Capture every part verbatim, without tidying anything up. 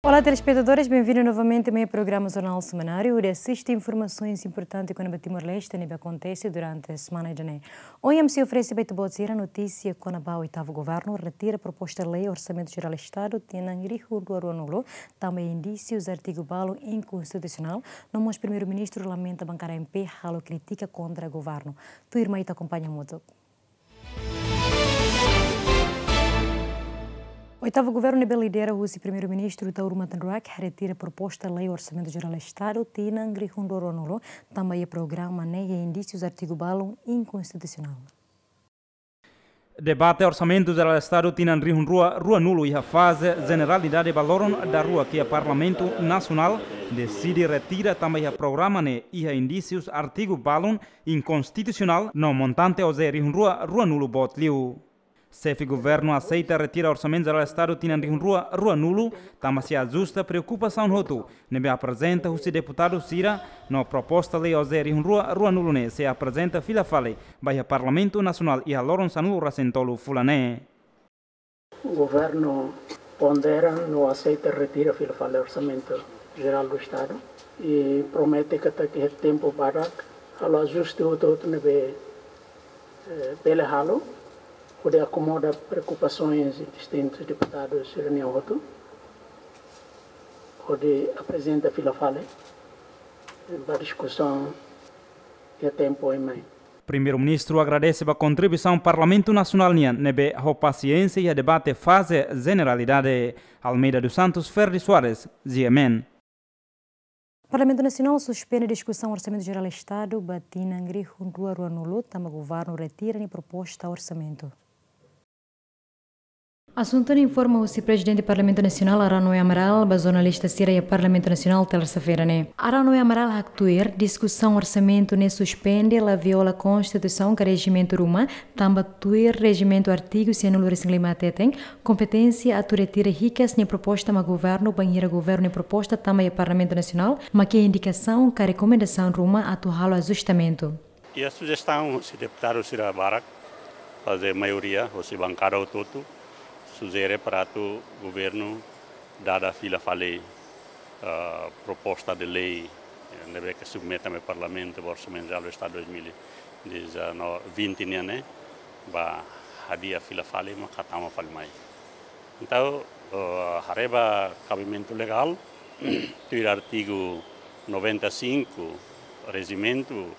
Olá, telespetadores, bem-vindos novamente ao meu programa Jornal Semanário, onde asiste informasoens importantes kona-ba Timor-Leste ne'ebé akontese durante semana ida-ne'e. Ohin ami sei oferese ba ita-boot sira notísia kona-ba oitavu governu retira proposta lei Orsamentu Jerál Estadu tinan rihun rua ruanulu, tanba iha indísius artigu balun inkonstitusionál, no mós Primeiru-Ministru lamenta bankada M P halo krítika kontra governu. Tuirmai ita akompaña hamutuk. Oitavu governu ne'ebé lidera husi Primeiru-Ministru Taur Matan Ruak retira proposta lei Orsamentu Jerál Estadu tinan rihun rua ruanulu, tanba iha programa ne'e iha indísius artigu balun inkonstitusionál. Debate Orsamentu Jerál Estadu tinan rihun rua ruanulu iha faze jeneralidade ba loron daruak iha Parlamentu Nasionál deside retira tanba iha programa ne'e iha indísius artigu balun inkonstitusionál no montante O J rihun rua ruanulu boot liu. Xefe governu aseita retira Orsamentu Jerál Estadu tinan rihun rua ruanulu, tanba sei ajusta preokupasaun hotu ne'ebé aprezenta husi deputadu sira, no proposta lei O J rihun rua ruanulu ne'e sei aprezenta fila fali ba iha Parlamentu Nasionál iha loron sanulu-resin-tolu fulan ne'e. Governu pondera no aseita retira fila fali Orsamentu Jerál do Estadu i promete katak iha tempu badak halo ajuste hotu-hotu ne'ebé, eh, bele halo, hodi akomoda preokupasoens distintus deputadus sira-nian hotu, hodi aprezenta fila fali, eh, ba diskusaun iha tempu oin mai. Primeiru-Ministru agradese ba kontribuisaun Parlamentu Nasionál nian ne'ebé ho pasiénsia iha debate faze jeneralidade. Almeida dos Santos, Ferdi Soares, G M N. Parlamentu Nasionál suspende diskusaun Orsamentu Jerál Estadu ba tinan rihun rua ruanulu, tanba governu retira nia proposta orsamentu. Asuntu ne'e informa husi Prezidente Parlamentu Nasionál, Arão Noé Amaral, ba jornalista sira iha Parlamentu Nasionál, tersa-feira ne'e. Arão Noé Amaral haktuir, diskusaun orsamentu ne'e suspende la viola Konstituisaun ka rejimentu ruma, tanba tuir rejimentu artigu sianulu-resin-lima hateten, kompeténsia atu retira hikas nia proposta mak governu, bainhira governu nia proposta tama iha Parlamentu Nasionál, mak iha indikasaun ka rekomendasaun ruma atu halo ajustamentu. Iha sujestaun husi deputadu sira barak, faze maioria, husi bankada hotu-hotu, sujere para atu governu dada fila fali, ah, proposta de lei, eh, ne'ebé ke submete mai Parlamentu ba Orsamentu Jerál do Estadu dois mil e dezenove, vinte nian ne'e, ba hadi'a fila fali, maka tama fali mai. Entaun, eh, haree ba kabimentu legál, tuir artigu noventa e cinco, rejimentu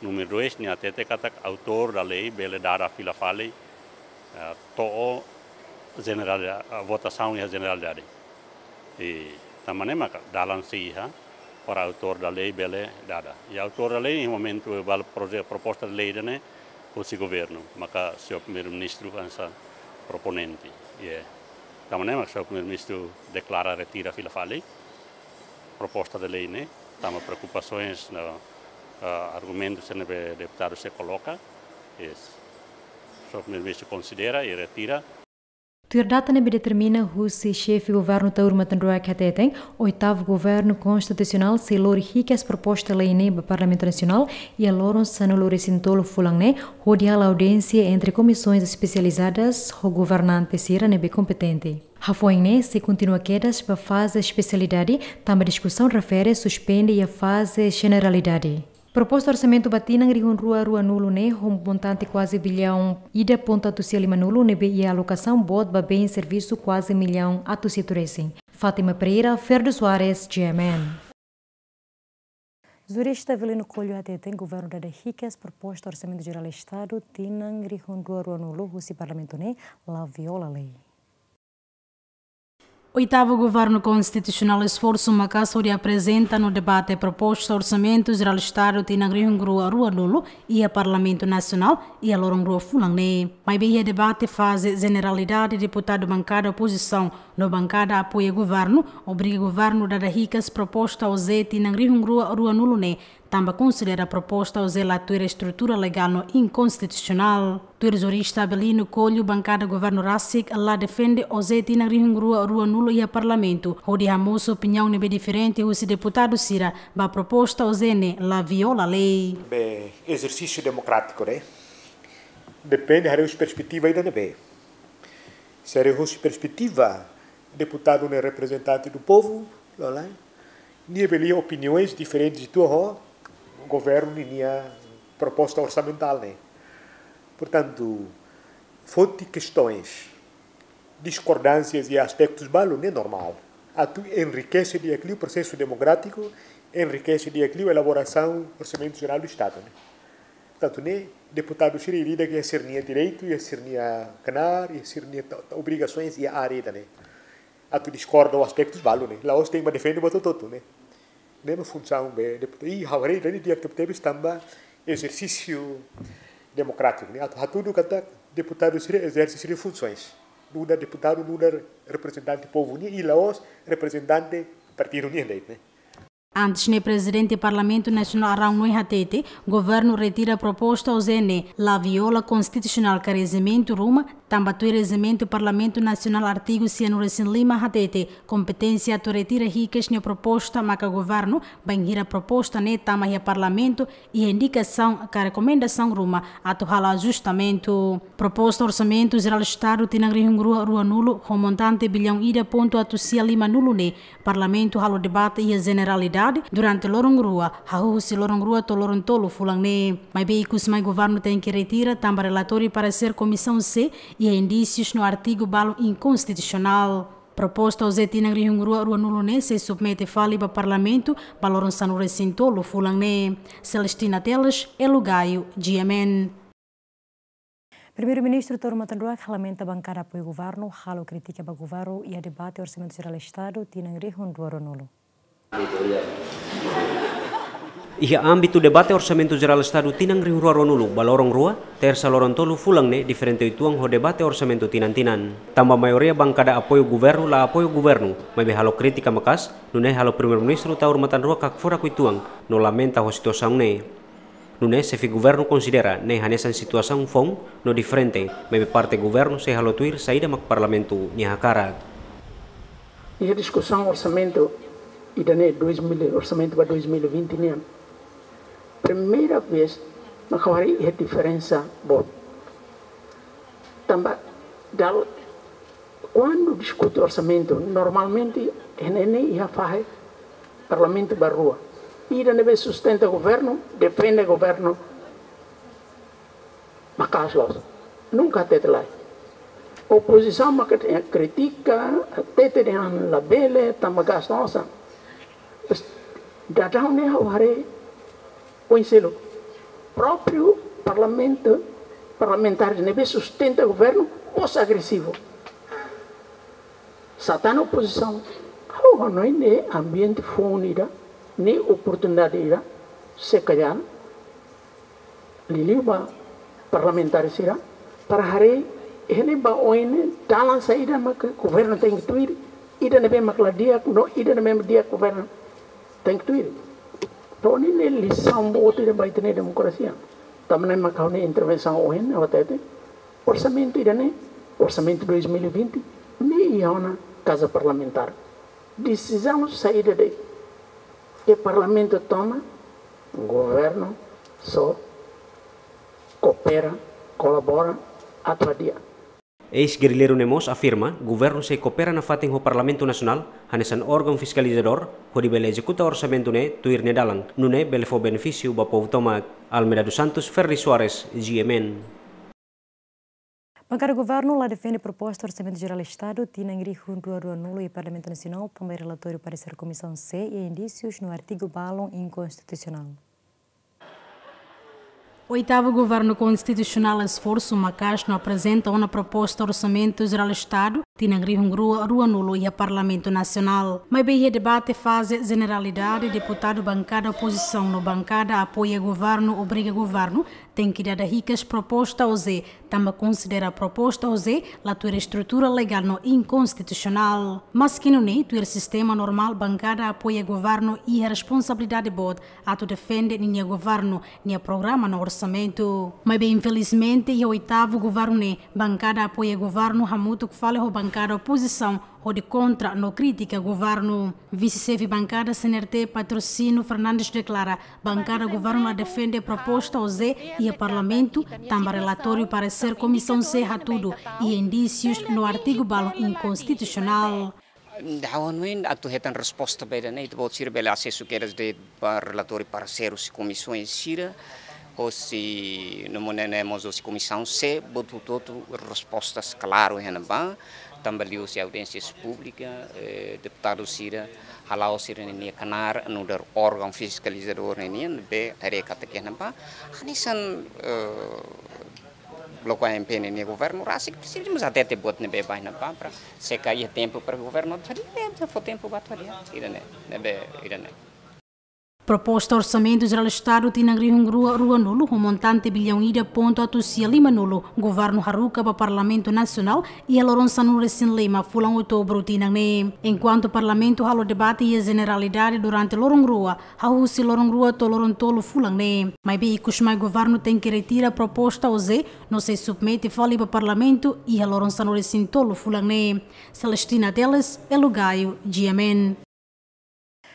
númeru dois, nia hatete katak autór da lei bele dada fila fali, eh, to'o jenerál, eh, votasaun iha jeneralidade. I tanba ne'e maka dalan sei iha para autór da lei bele dada. I autór da lei, iha momentu ba proje-, proposta de lei ida-ne'e, husi governu, maka señór Primeiru-Ministru hanesan proponente. I, eh, tanba ne'e maka señór Primeiru-Ministru deklara retira fila fali proposta de lei ne'e, tanba preokupasoens no, ah, argumentus ne'ebé deputadu sira koloka, i señór Primeiru-Ministru konsidera i retira. Tuir data ne'ebé determina husi Xefe Governu Taur Matan Ruak hateten, oitavu governu konstitusionál sei lori hikas proposta lei ne'e ba Parlamentu Nasionál iha loron sanulu-resin-tolu fulan ne'e, hodi halo audiénsia entre komisões espesializadas ho governante sira ne'ebé kompetente. Hafoin ne'e sei kontinua kedas ba faze espesialidade, tanba diskusaun refere suspende iha faze jeneralidade. Proposta orsamentu ba tinan rihun rua ruanulu ne'e ho montante kuaze billaun ida pontu atus sia limanulu ne'ebé iha alokasaun boot ba bens servisu kuaze millaun atus hitu resin. Fátima Pereira, Ferdo Soares, G M N. Jurista Avelino Coelho hateten governu dada hikas proposta Orsamentu Jerál Estadu tinan rihun rua ruanulu husi Parlamentu ne'e la viola lei. Oitavu Governu Konstitusionál esforsu maka'as hodi aprezenta no debate proposta Orsamentu Jerál Estadu tinan rihun rua ruanulu iha Parlamentu Nasionál iha loron rua fulan ne'e. Maibé iha debate faze jeneralidade, deputadu bankada opozisaun no bankada apoia governu obriga governu dada hikas proposta O J tinan rihun rua ruanulu ne'e, tanba konsidera proposta O J la tuir estrutura legál no inkonstitusionál. Tuir jurista Avelino Coelho, bankada governu rasik la defende O J tinan rihun rua ruanulu iha Parlamentu, hodi hamosu opiniaun ne'ebé diferente husi deputadu sira ba proposta O J ne'e la viola lei. Be, ezersísiu demokrátiku, né? Depende, haree husi perspetiva ida-ne'ebé. Se haree husi perspetiva Deputadu ne'e reprezentante do povu, loos, nia bele iha opiniões diferentes uitoan ho governu ninia proposta orsamentál ne'e. Portantu, foti kestaun, diskordánsias iha aspektus balu ne'e normál. Atu enrikese di'ak liu prosesu demokrátiku, enrikese di'ak liu elaborasaun Orsamentu Jerál do Estadu ne'e. Portantu, ne'e deputadu sira ida-idak iha sira-nia direitu, iha sira-nia knaar, iha sira-nia ta-, ta-, obrigasoens iha área ida-ne'e. Atu diskorda ho aspektus balu ne'e. La'ós tenke bá defende buat hotu-hotu ne'e. Ne'e mak funsaun be deputadu. I ha'u haree ida-ne'e di'ak tebetebes tanba ezersísiu demokrátiku ne'e. Atu hatudu katak deputadu sira ezerse sira-nia funsoens. Nu'udar deputadu, nu'udar reprezentante povu nian, i la'ós reprezentante partidu nian de'it ne'e. Antes ne'e, Prezidente Parlamentu Nasionál Araun Noe hatete, governu retira proposta OJE ne'e la viola konstitusionál ka rejimentu ruma, tanba tuir rejimentu Parlamentu Nasionál artigu sianulu-resin-lima hatete, kompeténsia atu retira hikas nia proposta maka governu, bainhira proposta ne'e tama iha Parlamentu, iha indikasaun ka rekomendasaun ruma atu halo ajustamentu. Proposta Orsamentu Jerál Estadu tinan rihun rua ruanulu, ho montante billaun ida pontu atus sia limanulu ne'e, Parlamentu halo debate iha jeneralidade durante loron rua, hahú husi loron rua to'o loron tolu fulan ne'e. Maibé ikus mai governu tenke retira tanba relatóriu paresér Komisaun C iha indísius no artigu balu inkonstitusionál. Proposta OJE tinan rihun rua ruanulu ne'e sei submete fali ba Parlamentu ba loron sanulu-resin-tolu fulan ne'e. Celestina Teles, Elo Gaio, G M N. Primeiru-Ministru Taur Matan Ruak lamenta bankada apoiu governu halo krítika ba governu iha debate Orsamentu Jerál Estadu tinan rihun rua ruanulu. Iha ámbitu debate Orsamentu Jerál Estadu tinan rihun rua ruanulu ba loron rua, Tersa loron tolu fulan ne'e diferente uitoan ho debate orsamentu tinan-tinan. Tanba maioria bankada apoiu governu la apoiu governu, maibé halo krítika maka'as, nune'e halo Primeiru-Ministru Taur Matan Ruak hakfodak uitoan, no lamenta ho situasaun ne'e. Nune'e xefe governu konsidera ne'e hanesan situasaun foun no diferente, maibé parte governu sei halo tuir saida mak Parlamentu nia hakarak. Iha diskusaun orsamentu ida-ne'e dois mil, orsamentu ba dois mil e vinte nian, primeira vez mak ha'u haree iha diferensa boot. Tanba dala, kuandu diskute orsamentu, normalmente, iha ne'e iha fahe Parlamentu ba rua. Ida ne'ebé sustenta governu, defende governu, maka'as loos. Nunka hatete lai. Opozisaun maka kritika, hatete dehan labele, tanba gastu osan. Mas daudaun ne'e ha'u haree, oinsá loos, própriu parlamentu, parlamentár ne'ebé sustenta governu, mós agresivu. Satana opozisaun, ha'u hanoin ne'e ambiente foun ida, ne'e oportunidade ida, se kalhar, liuliu ba parlamentár sira, para haree, iha ne'e ba oin ne'e, dalan saida mak governu tenke tuir, ida ne'ebé mak la di'ak, no ida ne'ebé mak di'ak governu tenke tuir. Entaun ne'e lisaun boot ida ba ita-nia demokrasia. Tanba ne'e mak ha'u-nia intervensaun ohin, ha'u hatete, orsamentu ida-ne'e, orsamentu dois mil e vinte, ne'e iha ona Kaza Parlamentár. Desizaun saida de'it ke parlamentu toma, governu só koopera, kolabora, atu hadi'a. Eis-gerrilleiru ne'e mós afirma, governu sei koopera nafatin ho Parlamentu Nasionál, hanesan órgaun fiskalizadór, hodi bele ezekuta orsamentu ne'e tuir nia dalan, nune'e bele fó benefísiu ba povu tomak. Almeida dos Santos, Ferdi Soares, G M N. Bankada governu la defende proposta Orsamentu Jerál Estadu tinan rihun rua ruanulu iha Parlamentu Nasionál, tanba relatóriu paresér Komisaun C iha indísius no artigu balu inkonstitusionál. Oitavu Governu Konstitusionál esforsu maka'as no aprezenta ona proposta Orsamentu Jerál Estadu tinan rihun rua ruanulu iha Parlamentu Nasionál. Maibé iha debate faze jeneralidade, deputadu bankada opozisaun no bankada apoia governu obriga governu tenke dada hikas proposta OJE, tanba konsidera proposta OJE la tuir estrutura legál no inkonstitusionál. Maski nune'e, tuir sistema normál, bankada apoia governu iha responsabilidade boot atu defende ninia governu nia programa no orsamentu. Maibé, infelizmente, iha oitavu governu ne'e, bankada apoia governu hamutuk fali ho bankada Bankada opozisaun hodi kontra no kritika governu. Vise-xefe bankada C N R T, Patrocínio Fernandes, deklara bankada governu la defende proposta OJE iha parlamentu, tanba relatóriu paresér Komisaun C hatudu iha indísius no artigu balu inkonstitusionál. Dahun win atu hetan resposta ba ida-ne'e, ita-boot sira bele asesu kedas de'it ba relatóriu paresér husi komisaun sira, husi no mós ne'e mós husi Komisaun C, buat hotu-hotu respostas klaru iha ne'ebá, tanba liuhusi audiénsia públika, eh, deputadu sira hala'o sira-nia knaar nu'udar órgaun fiskalizadór ninian, ne'ebé haree katak iha ne'ebá hanesan, eh, bloku A M P ninia governu rasik, presiza mós hatete buat ne'ebé ba iha ne'ebá para se kaer tempu para governu atu hadi'a, eh, fó tempu ba atu hadi'a, ida-ne'e, ne'ebé, ida-ne'e. Proposta Orsamentu Jerál Estadu tinan rihun rua ruanulu, ho montante biliaun ida pontu atus sia limanulu, governu haruka ba Parlamentu Nasionál iha loron sanulu-resin-lima fulan Outubru tinan ne'e. Enkuantu Parlamentu halo debate iha jeneralidade durante loron rua, hahú husi loron rua to'o loron tolu fulan ne'e. Maibé ikusmai governu tenke retira proposta OJE no sei submete fali ba Parlamentu iha loron sanulu-resin-tolu fulan ne'e. Celestina Teles, Elo Gaio, G M N.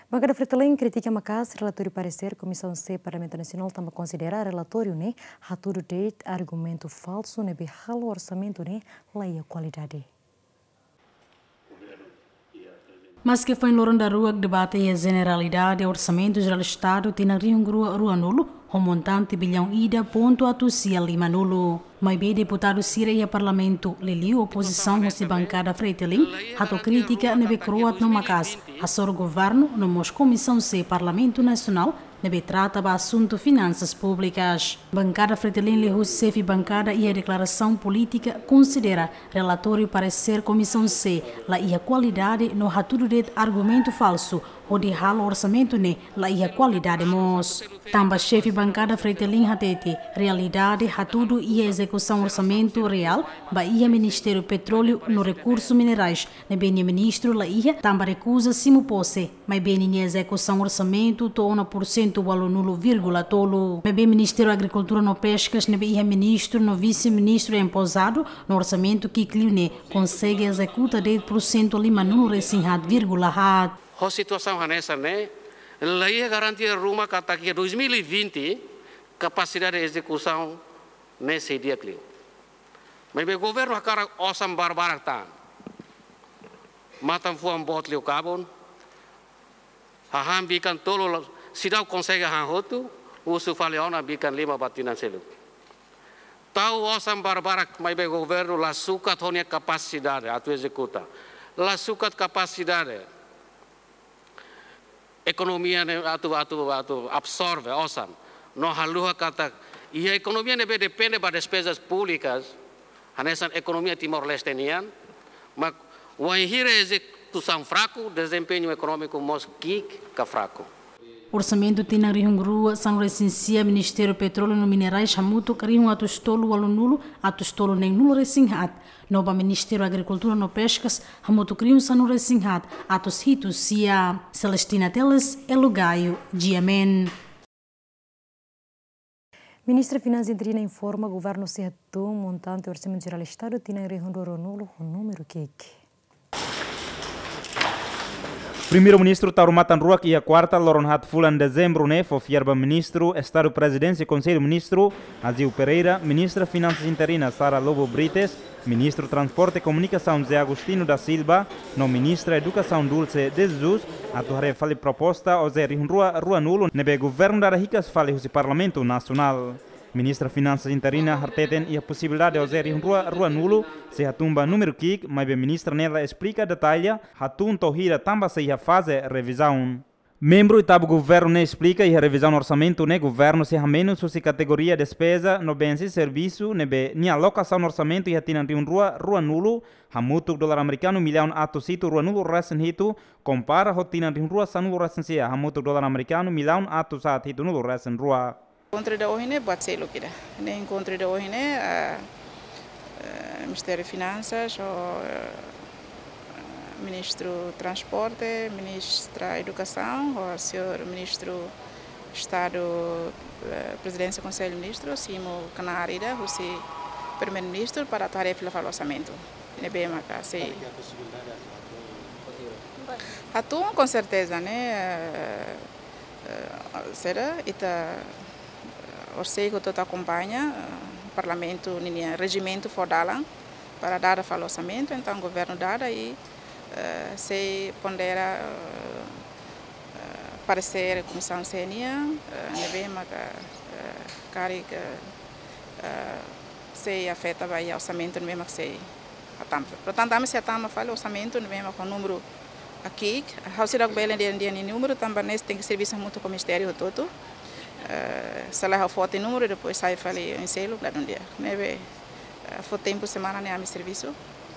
Bankada Fretilin kritika maka'as relatóriu paresér Komisaun C Parlamentu Nasionál tanba konsidera relatóriu ne'e hatudu de'it argumentu falsu ne'ebé halo orsamentu ne'e la iha kualidade. Maske foin loron daruak debate iha jeneralidade Orsamentu Jerál Estadu tinan rihun rua ruanulu, ho montante biliaun ida pontu atus sia limanulu. Maibé deputadu sira iha Parlamentu, liuliu opozisaun husi bankada Fretilin, hato'o kritika ne'ebé kro'at no maka'as hasoru governu no mós Komisaun C Parlamentu Nasionál ne'ebé trata ba asuntu finansas públikas. Bankada Fretilin liuhusi xefe bankada iha deklarasaun polítika konsidera relatóriu paresér Komisaun C la iha kualidade no hatudu de'it argumentu falsu hodi halo orsamentu ne'e la iha kualidade mós. Tanba xefe bankada Fretilin hatete, realidade hatudu iha ezekusaun orsamentu reál ba iha Ministériu Petróleu no Rekursu Minerais, ne'ebé nia ministru la iha tanba rekuza simu pose, maibé ninia ezekusaun orsamentu to'o ona pursentu ualunulu vírgula tolu. Maibé Ministériu Agrikultura no Peskas ne'ebé iha ministru no vise-ministru empozadu no orsamentu ki'ik liu ne'e konsege ezekuta de'it pursentu limanulu-resin-haat vírgula haat. Ho situasaun hanesan ne'e, la iha garantia ruma katak iha dois mil e vinte kapasidade ezekusaun ne'e sei di'ak liu. Maibé governu hakarak osan barbarak tan. Matan-fuan boot liu kabun. Hahán bikan tolu la, seidauk konsege hahán hotu, husu fali ona bikan lima ba tinan seluk. Tau osan barbarak maibé governu la sukat ho nia kapasidade atu ezekuta. La sukat kapasidade ekonomia ne'e atu, atu, atu absorve osan. No haluha katak iha ekonomia ne'ebé depende ba despezas públikas, hanesan ekonomia Timor-Leste nian, mak wainhira ezekusaun fraku, dezempeñu ekonómiku mós ki'ik ka fraku. Orsamentu tinan rihun rua sanulu-resin-sia Ministériu Petróleu no Minerais hamutuk rihun atus tolu ualunulu atus tolu neenulu-resin-haat, no ba Ministériu Agrikultura no Peskas hamutuk rihun sanulu-resin-haat atus hitu sia. Celestina Teles, Elo Gaio, G M N. Ministra Finansas interina informa governu sei hatún montante Orsamentu Jerál Estadu tinan rihun rua ruanulu ho númeru ki'ik. Primeiru-Ministru Taur Matan Ruak iha kuarta, loron haat fulan dezembru ne'e fó fiar ba Ministru Estadu Prezidénsia Konsellu Ministru, Aziu Pereira, Ministra Finansas interina Sara Lobo Brites, Ministru Transporte Komunikasaun José Agostinho da Silva, no Ministra Edukasaun Dulce de Jesus, atu haree fali proposta OJE rihun rua ruanulu ne'ebé governu dada hikas fali husi Parlamentu Nasionál. Ministra Finansas interina hateten iha posibilidade OJE rihun rua ruanulu sei hatún ba númeru ki'ik, maibé ministra ne'e la esplika detalle hatún to'o hira tanba sei iha faze revizaun. Membru Oitavu Governu ne'e esplika iha revizaun orsamentu ne'e governu sei hamenus husi kategoria despeza no bens e servisu ne'ebé nia alokasaun orsamentu iha tinan rihun rua ruanulu hamutuk dolar amerikanu millaun atus hitu ruanulu-resin-hitu, kompara ho tinan rihun rua sanulu-resin-sia hamutuk dolar amerikanu millaun atus haat hitunulu-resin-rua. Enkontru ida ohin ne'e buat seluk ida. Ne'e enkontru ida ohin ne'e, ah, eh, Ministériu Finansas, ho, eh, Ministru Transporte, Ministra Edukasaun, ho señór Ministru Estadu, eh, Prezidénsia Konsellu Ministru, simu knaar ida husi Primeiru-Ministru para atu haree fila fali orsamentu. ne'ebé maka sei. Hatún, com certeza, ne'e, eh, eh, será ita, eh, orseiku hotu akompaña, eh, Parlamentu ninia rejimentu fó dalan para dada fali orsamentu, entaun governu dada i, eh, sei pondera, eh, eh, paresér Komisaun C N I, eh, ne'ebé maka, eh, karik, eh, sei afeta ba iha orsamentu ne'ebé mak sei hatama. Portantu, ami sei hatama fali orsamentu ne'ebé mak ho númeru ki'ik. Ha'u seidauk bele dehan, dehan númeru tanba ne'e tenke servisu hamutuk ho ministériu hotu-hotu. Eh, se lae ha'u foti númeru, depois sai fali oin seluk, la dun dia. Ne'ebé, eh, fó tempu semana ne'e ami servisu.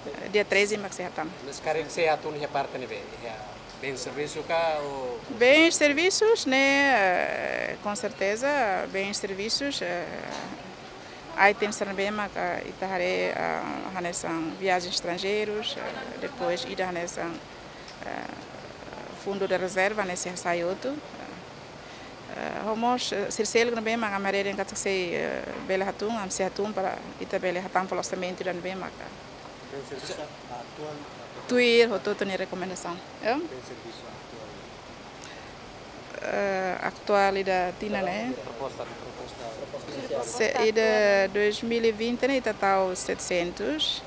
Eh, dia treze mak sei hatama. Mas karik sei hatún iha parte ne'ebé, iha bens servisu ka ou? Bens servisus ne'e, eh, com certeza, bens servisus, eh, items ne'ebé maka ita haree, ah, hanesan viagens estranjeirus, ah, depois ida hanesan, ah, fundu de rezerva, ne'e sei hasai hotu. Ah, ah, ho mós, eh, sira seluk ne'ebé maka ami haree dehan katak sei, eh, bele hatún, ami sei hatún para ita bele hatama fali orsamentu ida ne'ebé maka. Tuir hotu-hotu nia rekomendasaun. Eh? Eh, atuál ida tinan ne'e. Se ida dois mil e vinte ne'e ita tau setecentos.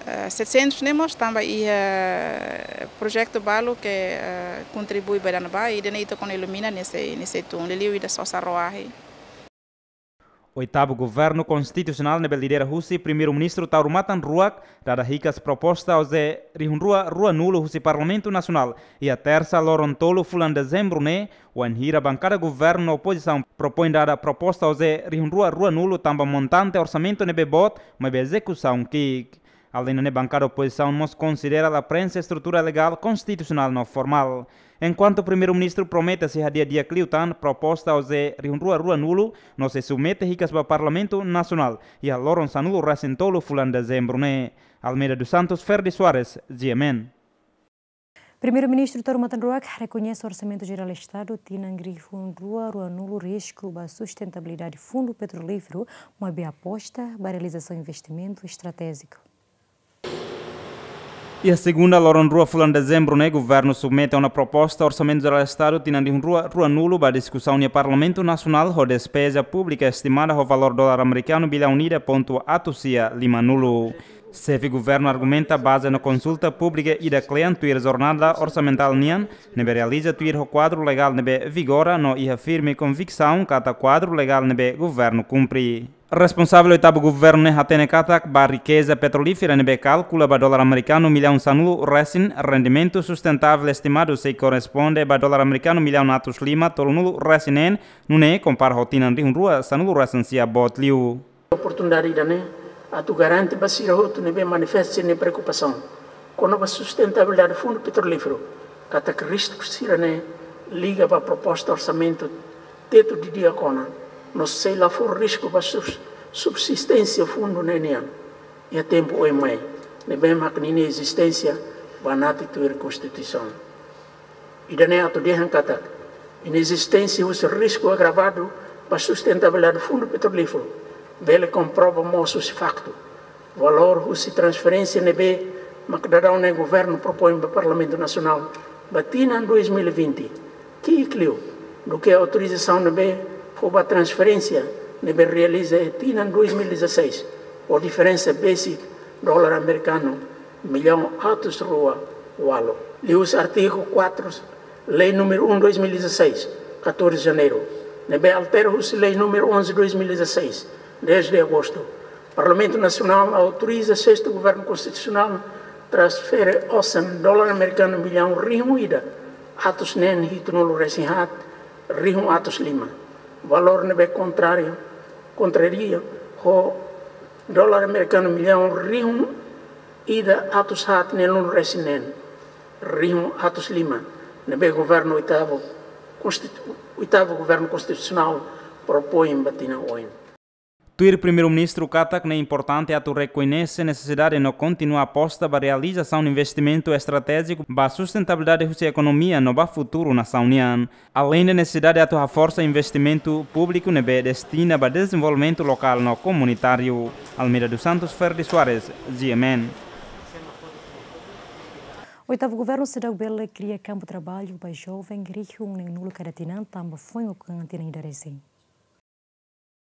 Eh, setecentos ne'e mós tanba iha projetu balu ke, eh, kontribui ba ida-ne'ebá, ida-ne'e ita kona ilumina ne'e sei, ne'e sei tun. Liuliu ida sosa roahi. Oitavu Governu Konstitusionál ne'ebé lidera husi Primeiru-Ministru Taur Matan Ruak dada hikas proposta OJE rihun rua ruanulu husi Parlamentu Nasionál iha Tersa loron tolu fulan Dezembru ne'e, wainhira bankada governu no opozisaun propoin dada proposta OJE rihun rua ruanulu tanba montante orsamentu ne'ebé boot, maibé ezekusaun ki'ik. Aleinde ne'e, bankada opozisaun mós konsidera la preenxe estrutura legál, konstitusionál no formál. Enkuantu Primeiru-Ministru promete sei hadi'a di'ak liután proposta OJE rihun rua ruanulu no sei submete hikas ba Parlamentu Nasionál iha loron sanulu resin tolu fulan Dezembru ne'e. Almeida dos Santos, Ferdi Soares, G M N. Primeiru-Ministru Taur Matan Ruak rekoñese Orsamentu Jerál Estadu tinan rihun rua ruanulu risku ba sustentabilidade fundu petrolíferu, maibé aposta ba realizasaun investimentu estratéjiku. Iha segunda, loron rua fulan Dezembru ne'e, governu submete ona proposta Orsamentu Jerál Estadu tinan rihun rua ruanulu ba diskusaun iha Parlamentu Nasionál, ho despeza públika estimada ho valór dolar amerikanu billaun ida pontu atus sia limanulu. Xefe governu argumenta bazeia no konsulta públika ida kle'an tuir jornada orsamentál nian, ne'ebé realiza tuir ho kuadru legál ne'ebé vigora no iha firme konviksaun katak kuadru legál ne'ebé governu kumpre. Responsavel oitavu governu ne'e hatene katak ba rikeza petrolífera ne'ebé kalkula ba dolar amerikanu millaun sanulu resin, rendimentu sustentavel estimadu sei korresponde ba dolar amerikanu millaun atus lima tolunulu resin neen, nune'e kompara ho tinan rihun rua sanulu resin sia boot liu. Oportunidade ida-ne'e atu garante ba sira hotu ne'ebé manifesta sira-nia preokupasaun kona-ba sustentabilidade fundu petrolíferu katak risku sira-ne'e liga ba proposta orsamentu tetu didi'ak ona, no sei la fó risku ba subs-, subsisténsia fundu ne'e nian iha tempu oin mai, ne'ebé mak ninia ezisténsia banati tuir Konstituisaun. Ida-ne'e atu dehan katak inezisténsia husi risku agravadu ba sustentabilidade fundu petrolíferu bele komprova mós husi faktu valór husi transferénsia ne'ebé mak daudaun ne'e governu propoin ba Parlamentu Nasionál ba tinan dois mil e vinte, ki'ik liu duké autorizasaun ne'ebé fó ba transferénsia ne'ebé realiza iha tinan dois mil e dezasseis, ho diferensa besik dolar amerikanu millaun atus rua ualu. Liuhusi artigu quatro, Lei número um dois mil e dezasseis, catorze de janeiro, ne'ebé altera husi Lei número onze dois mil e dezasseis, dez de agosto, Parlamentu Nasionál autoriza Sestu Governu Konstitusionál transfere osan dolar amerikanu millaun rihun ida atus neen hitunulu resin haat rihun atus lima. Valór ne'ebé kontráriu, kontraria ho dolar amerikanu millaun rihun ida atus haat neenulu resin neen rihun atus lima, ne'ebé governu oitavu konstitu-, oitavu Governu Konstitusionál propoin ba tinan oin. Tuir Primeiru-Ministru katak ne'e importante atu rekoñese nesesidade no kontinua aposta ba realizasaun investimentu estratéjiku ba sustentabilidade husi ekonomia no ba futuru nasaun nian. Aleinde nesesidade atu haforsa investimentu públiku ne'ebé destina ba dezenvolvimentu lokál no komunitáriu. Almeida dos Santos, Ferdi Soares, G M N. Oitavu Governu seidauk bele kria kampu traballu ba joven rihun neen-nulu kada tinan tanba foin ukun tinan ida resin.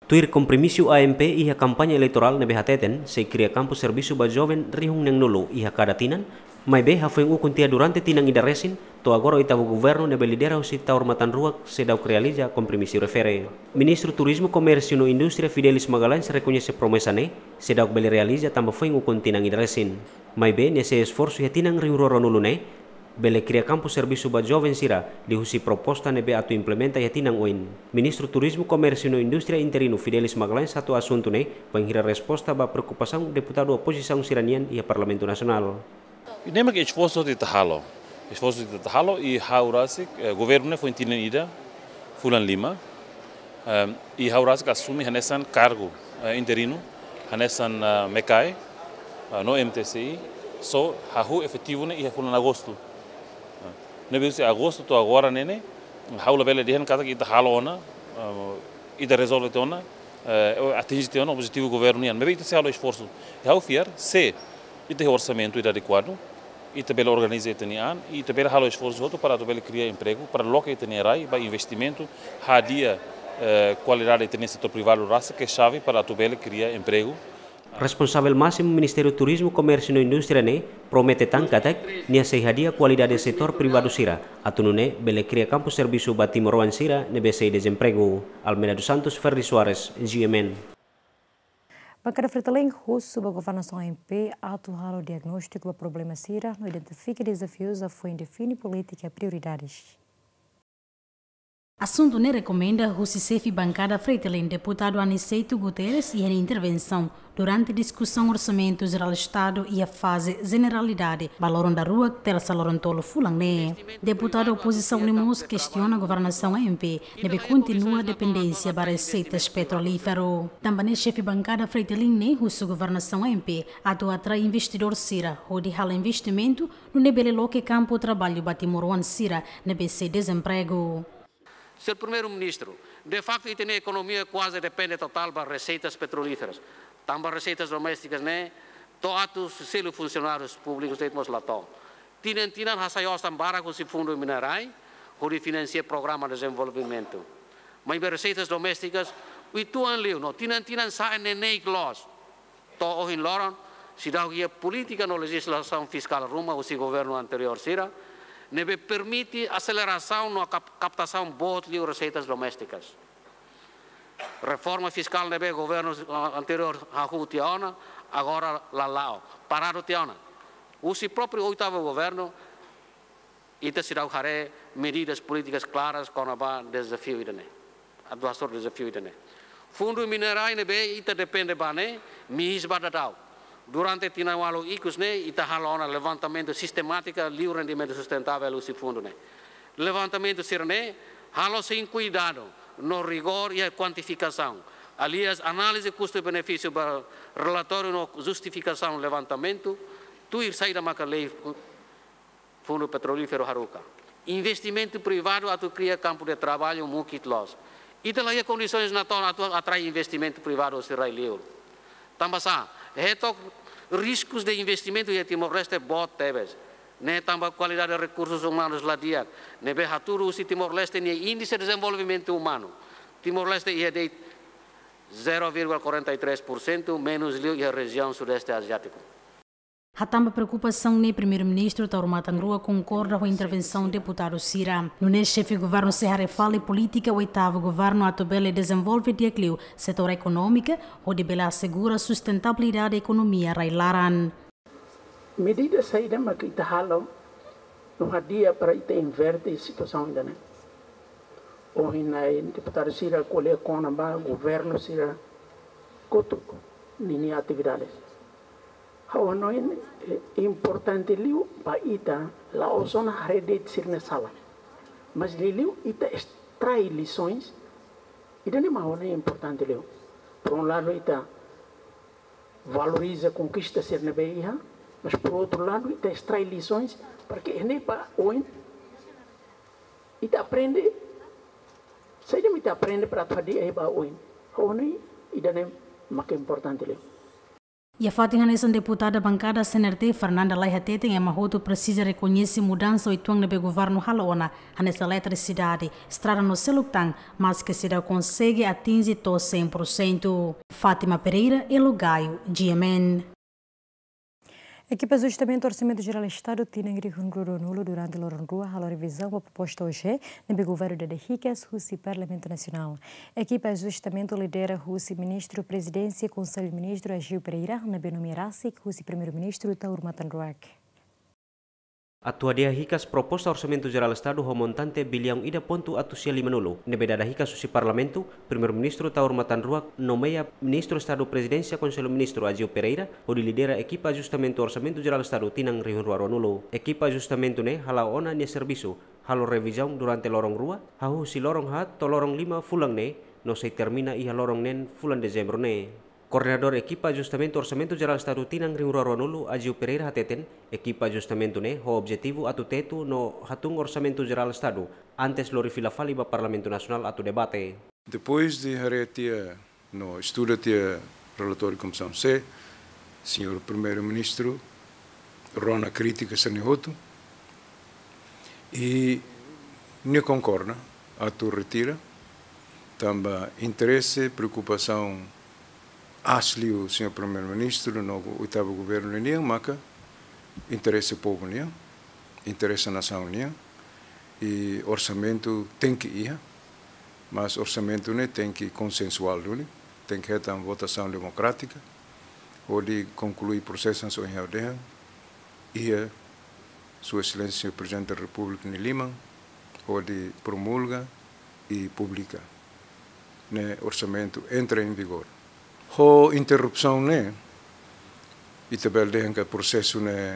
Tuir kompromisu A M P iha kampaña eleitorál ne'ebé hateten sei kria kampu servisu ba joven rihun neen-nulu iha kada tinan, maibé hafoin ukun tiha durante tinan ida resin, to'o agora oitavu Governu ne'ebé lidera husi Taur Matan Ruak seidauk realiza kompromisu refere. Ministru Turizmu, Komérsiu no Indústria Fidelis Magalhães rekoñese promesa ne'e seidauk bele realiza tanba foin ukun tinan ida resin. Maibé nia sei esforsu iha tinan rihun rua ruanulu ne'e bele kria kampu servisu ba joven sira liuhusi proposta ne'ebé atu implementa iha tinan oin. Ministru Turizmu, Komérsiu no Indústria interinu Fidelis Magalhães hato'o asuntu ne'e bainhira resposta ba preokupasaun deputadu opozisaun sira-nian iha Parlamentu Nasionál. Ne'e mak esforsu ita halo. Esforsu ita halo i ha'u rasik, eh, governu ne'e foin tinan ida, fulan lima. Em, i ha'u rasik asume hanesan kargu, eh, interinu, hanesan, eh, MECAE, eh, no M T C I, só hahú efetivu ne'e iha fulan agostu. Eh, ne'ebé husi agostu to'o agora ne'e ne'e, ha'u labele dehan katak ita halo ona, eh, ita rezolve tiha ona, eh, atinje tiha ona objetivu governu nian. Maibé ita sei halo esforsu. I ha'u fiar, se ita iha orsamentu ida adekuadu, ita bele organiza ita-nia an, i ita bele halo esforsu hotu para atu bele kria empregu, para loke ita-nia rai ba investimentu, hadi'a, eh, kualidade ita-nia setór privadu rasik ke xave para atu bele kria empregu. Responsavel másimu Ministériu Turizmu, Komérsiu no Indústria ne'e promete tan katak nia sei hadi'a kualidade setór privadu sira, atu nune'e bele kria kampu servisu ba timoroan sira ne'ebé sei dezempregu. Almeida dos Santos, Ferdi Soares, G M N. Bankada FRETILIN husu ba governasaun A M P atu halo diagnóstiku ba problema sira no identifika dezafius, hafoin define polítika prioridades. Asuntu ne'e rekomenda husi xefe bankada FRETILIN, deputadu Aniceto Guterres, iha nia intervensaun durante diskusaun Orsamentu Jerál Estadu iha faze jeneralidade ba loron daruak, tersa loron tolu fulan ne'e. Deputadu opozisaun ne'e mós kestiona governasaun A M P ne'ebé kontinua dependénsia ba reseitas petrolíferu. Tanba ne'e xefe bankada FRETILIN ne'e husu governasaun A M P atu atrai investidór sira hodi halo investimentu, nune'e bele loke kampu traballu ba timoroan sira ne'ebé sei dezempregu. Señór Primeiru-Ministru, de facto, ita-nia ekonomia kuaze depende totál ba reseitas petrolíferas. Tanba reseitas doméstikas ne'e, to'o atu selu funsionárius públikus de'it mós la to'o. Tinan-tinan hasai osan barak husi Fundu Minerai, hodi finansia programa dezenvolvimentu. Maibé reseitas doméstikas, uitoan liu, no tinan-tinan sa'e neineik loos. To'o ohin loron, seidauk iha polítika no lejizlasaun fiskál ruma husi governu anteriór sira, ne'ebé permite aselerasaun no kap-, kaptasaun boot liu reseitas doméstikas. Reforma fiskál ne'ebé governu, ah, anteriór hahú tiha ona, agora la la'o, paradu tiha ona. Husi própriu oitavu governu, ita seidauk haree medidas polítikas klaras kona-ba dezafiu ida-ne'e. Atu hasoru dezafiu ida-ne'e. Fundu Minerai ne'ebé ita depende ba ne'e, mihis ba daudaun. Durante tinan ualu ikus ne'e, ita halo ona levantamentu sistemátika liu rendimentu sustentável husi fundu ne'e. Levantamentu sira-ne'e halo sein kuidadu no rigór iha kuantifikasaun. Aliás, análize kustu-benefísiu ba relatóriu no justifikasaun levantamentu, tuir saida maka lei Fundu Petrolíferu haruka. Investimentu privadu atu kria kampu de traballu mukit loos. Ita la iha kondisoens natoon atu atrai investimentu privadu husi rai-liur. Tanba sá, hetok riskus de investimentu iha Timor-Leste boot tebes. Ne'e tanba kualidade rekursus umanus la di'ak, ne'ebé hatudu husi Timor-Leste nia índise dezenvolvimentu umanu. Timor-Leste iha de'it zero vírgula quarenta e três por cento, menus liu iha rejiaun Sudeste Aziátiku. Hatán ba preokupasaun ne'e, Primeiru-Ministru Taur Matan Ruak konkorda ho intervensaun deputadu sira. Nune'e xefe governu sei haree fali polítika oitavu governu atu bele dezenvolve di'ak liu setór ekonómika, hodi bele asegura sustentabilidade ekonomia rai-laran. Medida saida mak ita halo no hadi'a para ita inverte situasaun ida-ne'e? Ohin nai deputadu sira ko'alia kona-ba governu sira kotuk ninia atividades. Ha'u hanoin, eh, importante liu ba ita, la'ós ona haree de'it sira-nia sala. Mas liuliu ita extrai lições, ida-ne'e mak ha'u hanoin importante liu. Por um lado, ita valoriza konkista sira ne'ebé iha, mas por outro lado, ita extrai lições para ke ne'e ba oin ita aprende, saida mak ita aprende para atu hadi'a iha ba oin. Ha'u hanoin ida-ne'e mak importante liu. Iha fatin hanesan, deputada bankada C N R T, Fernanda Lay, hateten ema hotu presiza rekoñese mudansa oituan ne'ebé governu halo ona, hanesan eletrisidade, estrada no seluk tan, maske seidauk konsege atinje to'o cem por cento. Fátima Pereira, Elo Gaio, G M N. Ekipa Ajustamentu Orsamentu Jerál Estadu tinan rihun rua ruanulu durante loron rua halo revizaun ba proposta O G, ne'ebé governu dada hikas husi Parlamentu Nasionál. Ekipa ajustamentu lidera husi Ministru Prezidénsia Konsellu Ministru Agio Pereira, ne'ebé nomeia rasik husi Primeiru-Ministru Taur Matan Ruak. Atu hadi'a hikas proposta Orsamentu Jerál Estadu ho montante biliaun ida pontu atus sia limanulu, ne'ebé dada hikas husi Parlamentu, Primeiru-Ministru Taur Matan Ruak nomeia Ministru Estadu Prezidénsia Konsellu Ministru Agio Pereira hodi lidera ekipa ajustamentu Orsamentu Jerál Estadu tinan rihun rua ruanulu. Ekipa ajustamentu ne'e hala'o ona nia servisu, halo revizaun durante loron rua, hahú husi loron haat to'o loron lima fulan ne'e, no sei termina iha loron neen fulan Dezembru ne'e. Koordenadór ekipa ajustamentu Orsamentu Jerál Estadu tinan rihun rua ruanulu, Agio Pereira, hateten ekipa ajustamentu ne'e ho objetivu atu tetu no hatún Orsamentu Jerál Estadu antes lori fila fali ba Parlamentu Nasionál atu debate. Depois de haree tiha no estuda tiha relatóriu Komisaun C, señór Primeiru-Ministru rona krítika sira-ne'e hotu i nia konkorda atu retira, tanba interese, preokupasaun aas liu señór Primeiru-Ministru no oitavu governu nian maka interese povu nian, interese nasaun nian, i orsamentu tenke iha, mas orsamentu ne'e tenke konsensuál duni, tenke hetan votasaun demokrátika, hodi konklui prosesu hanesan ohin ha'u dehan, iha Sua Exelénsia Prezidente da Repúblika nia liman, hodi promulga i publika, ne'e orsamentu entra em vigor. Ho interrupsaun ne'e, ita bele dehan katak prosesu ne'e,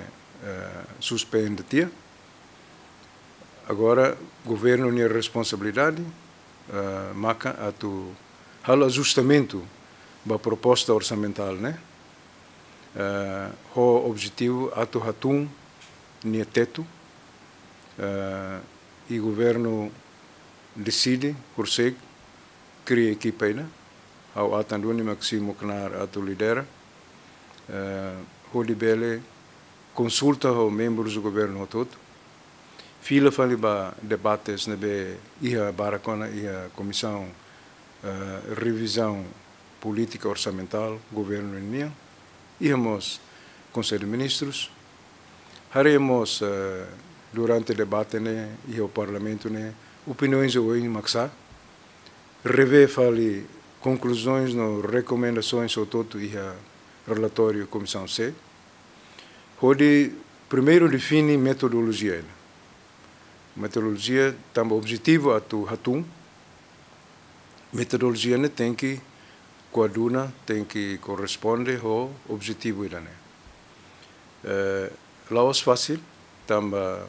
eh, suspende tiha. Agora, governu nia responsabilidade, eh, maka atu halo ajustamentu ba proposta orsamentál ne'e, eh, ho objetivu atu hatún nia tetu, eh, i governu deside, konsege, kria ekipa ida, ha'u atan duni mak simu knaar atu lidera, eh, hodi bele konsulta ho membrus do governu hotu-hotu, fila fali ba debates ne'ebé iha barak ona iha Komisaun, eh, Revizaun Polítika Orsamentál Governu nian, iha mós Konsellu Ministrus, haree mós, eh, durante debate ne'e iha Parlamentu ne'e, opiniaun oioin mak sa'e, revee fali konkluzaun no rekomendasaun hotu-hotu iha relatóriu Komisaun C, hodi primeiru define metodolojia ida. Metodolojia tanba objetivu atu hatún, metodolojia ne'e tenke koaduna, tenke korresponde ho objetivu ida-ne'e. Eh, la'ós fasil, tanba,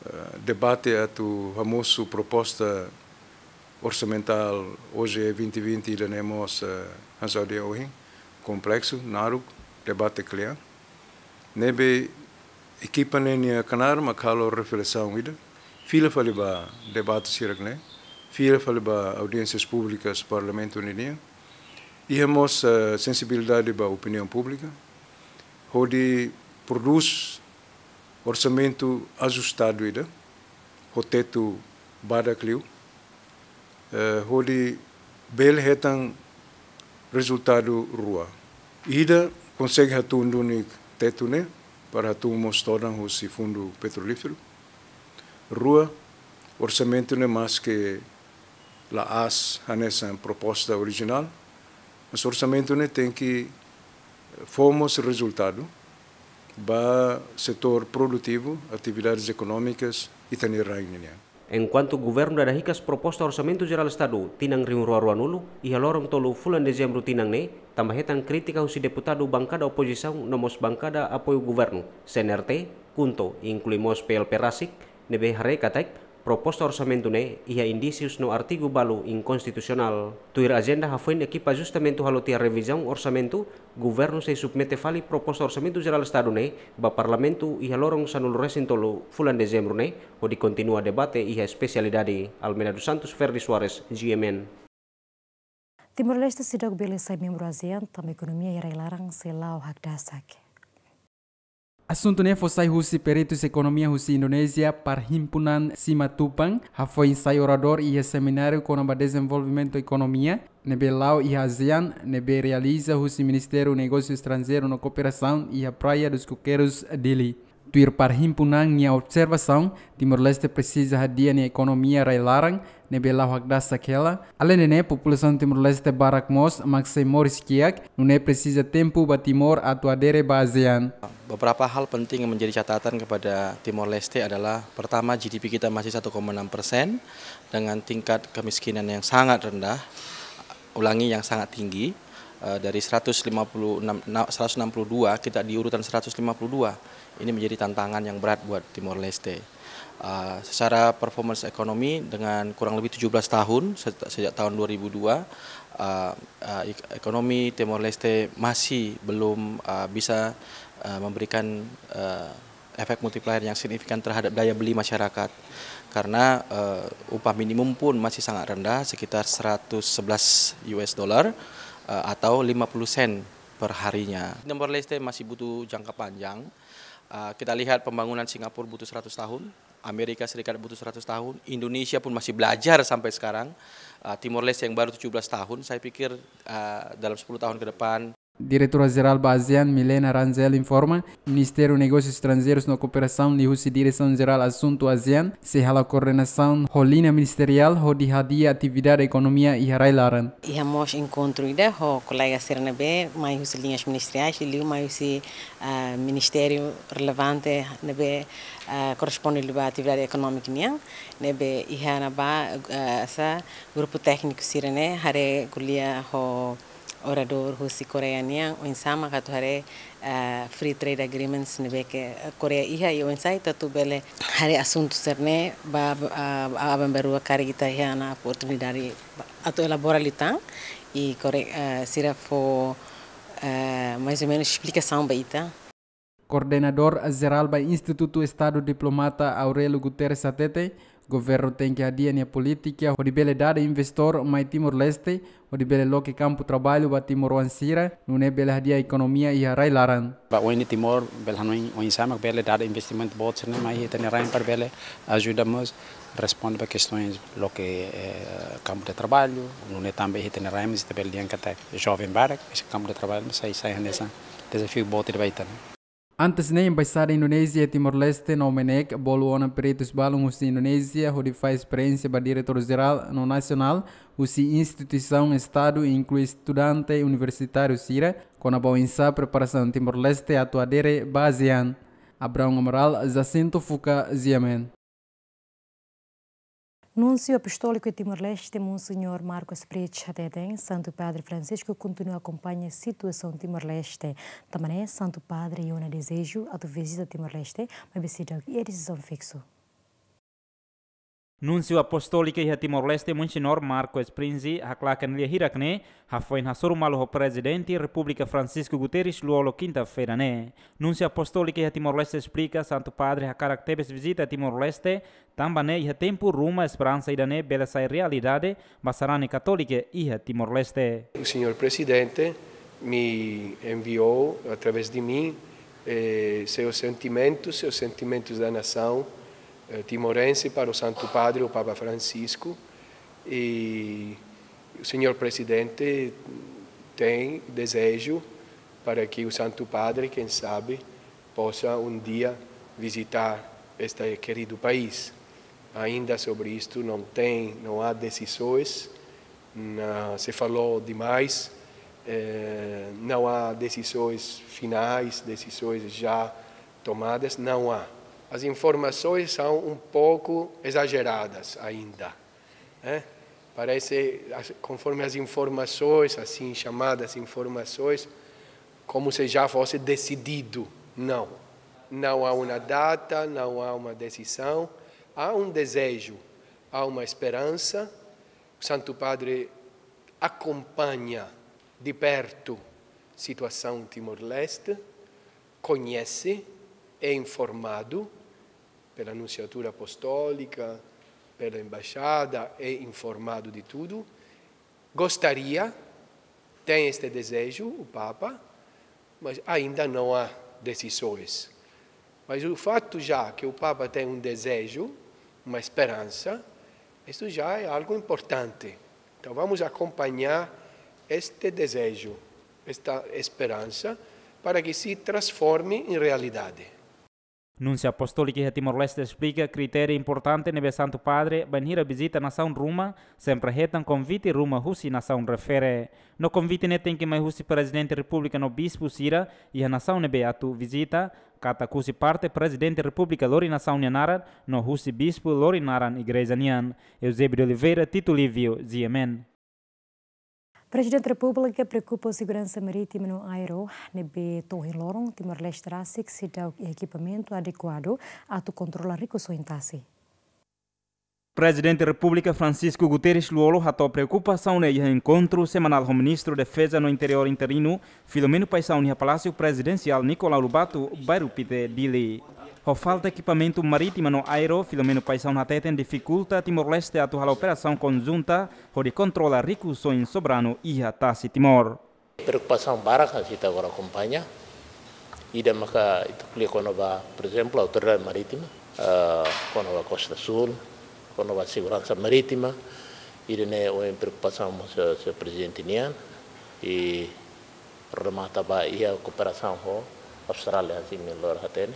eh, debate atu hamosu proposta orsamentál O G vinte vinte ida-ne'e mós, eh, hanesan ohin, kompleksu, naruk, debate kle'an. Ne'ebé ekipa ne'e nia knaar mak halo reflesaun ida, fila fali ba debate sira-ne'e, fila fali ba audiénsias públikas Parlamentu ninian, iha mós, eh, sensibilidade ba opiniaun públika, hodi prodús orsamentu ajustadu ida, ho tetu badak liu, eh, hodi bele hetan rezultadu rua. Ida, konsege hatún duni tetu ne'e, para hatún mós todan husi Fundu Petrolíferu. Rua, orsamentu ne'e maske la'ós hanesan proposta orijinál, mas orsamentu ne'e tenke fó mós rezultadu ba setór produtivu, atividades ekonómikas ita-nia rain ninian. Enkuantu governu dada hikas proposta Orsamentu Jerál Estadu tinan rihun rua ruanulu, iha loron tolu fulan Dezembru tinan ne'e, tanba hetan krítika husi deputadu bankada opozisaun no mós bankada apoiu governu, C N R T, KHUNTO, inklui mós P L P rasik, ne'ebé haree katak proposta orsamentu ne'e iha indísius no artigu balu inkonstitusionál. Tuir ajenda hafoin ekipa ajustamentu halo tiha revizaun orsamentu, governu sei submete fali proposta Orsamentu Jerál Estadu ne'e ba Parlamentu iha loron sanulu-resin-tolu fulan Dezembru ne'e, hodi kontinua debate iha espesialidade. Almeida dos Santos, Ferdi Soares, G M N. Timor-Leste seidauk bele sai membru ASEAN tanba ekonomia iha rai-laran sei la'o hakdasak. Asuntu ne'e fó sai husi peritus ekonomia husi Indonézia, Parhimpunan Simatupang, hafoin sai oradór iha semináriu kona-ba dezenvolvimentu ekonomia ne'ebé la'o iha ASEAN, ne'ebé realiza husi Ministériu Negósiu Estranjeiru no Kooperasaun iha Praia dos Coqueiros, Dili. Tuir Parhimpunan nia observasaun, Timor-Leste presiza hadi'a nia ekonomia rai-laran ne'ebé la'o hakdasak hela. Aleinde ne'e, populasaun Timor-Leste barak mós mak sei moris kiak, nune'e presiza tempu ba Timor atu adere ba ASEAN. Beberapa hal penting yang menjadi catatan kepada Timor-Leste adalah, pertama, G D P kita masih satu koma enam persen dengan tingkat kemiskinan yang sangat rendah, ulangi, yang sangat tinggi, eh, dari seratus lima puluh enam, na-, seratus enam puluh dua, kita di urutan seratus lima puluh dua. Ini menjadi tantangan yang berat buat Timor-Leste. Eh, secara performance ekonomi, dengan kurang lebih tujuh belas tahun, se-, sejak tahun dua ribu dua, eh, eh, ek-, ekonomi Timor-Leste masih belum, eh, bisa, eh, memberikan, eh, efek multiplier yang signifikan terhadap daya beli masyarakat. Karena, eh, upah minimum pun masih sangat rendah, sekitar seratus sebelas U S dollar, eh, atau lima puluh sen per harinya. Timor-Leste masih butuh jangka panjang. Eh, kita lihat pembangunan Singapura butuh seratus tahun, Amerika Serikat butuh seratus tahun, Indonesia pun masih belajar sampai sekarang. Eh, Timor-Leste yang baru tujuh belas tahun, saya pikir, eh, dalam sepuluh tahun ke depan, Diretora Jerál ba ASEAN, Milena Rangel, informa, Ministériu Negósius Estranjeirus no Kooperasaun liuhusi Diresaun Jerál Asuntu ASEAN, sei halo koordenasaun ho liña ministeriál hodi hadi'a atividade ekonomia iha rai-laran. Iha mós enkontru ida ho kolega sira ne'ebé mai husi liñas ministeriais, liuliu mai husi, ah, ministériu relevante ne'ebé, ah, korresponde liu ba atividade ekonómika nian, ne'ebé iha ne'ebá, ah, sá, grupu tékniku sira-ne'e haree ko'alia ho oradór husi Koreia nian, oinsá mak atu haree, eh, free trade agreements ne'ebé ke, eh, Koreia iha, i oinsá ita atu bele haree asuntu sira-ne'e ba, ah, aban-bainrua karik ita iha ona oportunidade atu elabora liután, i Kore-, eh, sira fó, eh, mais ou menus esplikasaun ba ita. Koordenadór Jerál ba Institutu Estadu Diplomata Aurelio Guterres hatete, governu tenke hadi'a nia polítika hodi bele dada investór mai Timor-Leste, hodi bele loke kampu traballu ba timoroan sira, nune'e bele hadi'a ekonomia iha rai-laran. Ba oin Timor bele hanoin oinsá mak bele dada investimentu boot sira-ne'e mai iha ita-nia rain para bele ajuda mós responde ba kestaun loke, eh, kampu de traballu, nune'e tanba iha ita-nia rain mós ita bele dehan katak joven barak, mas kampu de traballu mós sai, sai hanesan dezafiu boot ida ba ita. Antes ne'e, Embaixada Indonézia iha Timor-Leste no MNEK bolu ona peritus balun husi Indonézia hodi fahe esperiénsia ba diretór jerál no nasionál husi instituisaun Estadu, inklui estudante universitáriu sira, kona-ba oinsá preparasaun Timor-Leste atu adere ba ASEAN. Abraão Amaral, Jacinto Fuca, G M N. Núnsiu Apostóliku Timor-Leste, Monseñór Marco Sprich, hateten Santu Padre Francisco kontinua akompaña situasaun Timor-Leste. Tanba ne'e, Santu Padre iha ona dezeju atu vizita Timor-Leste, maibé seidauk iha desizaun fiksu. Núnsiu Apostóliku iha Timor-Leste, Monseñór Marco Sprich, haklaken lia hirak ne'e, hafoin hasoru malu ho Prezidente Repúblika Francisco Guterres, Lú-Olo, kinta-feira ne'e. Núnsiu Apostóliku iha Timor-Leste esplika, Santu Padre hakarak tebes vizita Timor-Leste, tanba ne'e iha tempu ruma esperansa ida-ne'e bele sai realidade ba sarani katólika iha Timor-Leste. O senhor presidente me enviou, através de mim, eh, seus sentimentos, seus sentimentos da nação, eh, timorense para o Santo Padre, o Papa Francisco, e o senhor presidente tem desejo para que o Santo Padre, quem sabe, possa um dia visitar este querido país. Ainda sobre isto não tem, não há decisões, na-, se falou demais, eh, não há decisões finais, decisões já tomadas, não há. As informações são um pouco exageradas ainda, né? Parece, as, conforme as informações, assim chamadas informações, como se já fosse decidido. Não. Não há uma data, não há uma decisão. Há um desejo, há uma esperança. O Santo Padre acompanha de perto situação Timor-Leste, conhece, é informado pela Nunciatura Apostólica, pela Embaixada, é informado de tudo. Gostaria Tem este desejo, o Papa, mas ainda não há decisões. Mas o fato já que o Papa tem um desejo, uma esperança, isso já é algo importante. Então vamos acompanhar este desejo, esta esperança, para que se transforme em realidade. Nunsiu Apostólika iha Timor-Leste esplika kritériu importante ne'ebé Santu Padre bainhira vizita nasaun ruma, sempre hetan konvite ruma husi nasaun refere. No konvite ne'e tenke mai husi Prezidente Repúblika no bispu sira iha nasaun ne'ebé atu vizita, katak husi parte Prezidente Repúblika lori nasaun nia naran, no husi bispu lori naran igreja nian. Eusébio de Oliveira, Tito Livio, G M N. Prezidente Repúblika preokupa seguransa marítima no aéreo, ne'ebé to'o ohin loron Timor-Leste rasik seidauk iha ekipamentu adekuadu atu kontrola rikusoin tasi. Prezidente Repúblika Francisco Guterres Lú-Olo hato'o preokupasaun ne'e iha enkontru semanál ho Ministru Defeza no Interiór interinu, Filomeno Paixão iha Palásiu Prezidensiál Nicolau Lobato, Bairru Pité, Dili. Ho falta ekipamentu marítima no aéreo, Filomeno Paixão hateten difikulta Timor-Leste atu halo operasaun konjunta hodi kontrola rikusoin soberanu iha tasi Timor. Preokupasaun barak, ita agora akompaña. Ida maka ita ko'alia kona-ba, por ezemplu, autoridade marítima, ah, kona-ba Kosta Súl, kona-ba seguransa marítima. Ida-ne'e ohin preokupasaun mós, eh, señór Prezidente nian. I remata ba iha kooperasaun ho Austrália, hanesan imi lori hatene.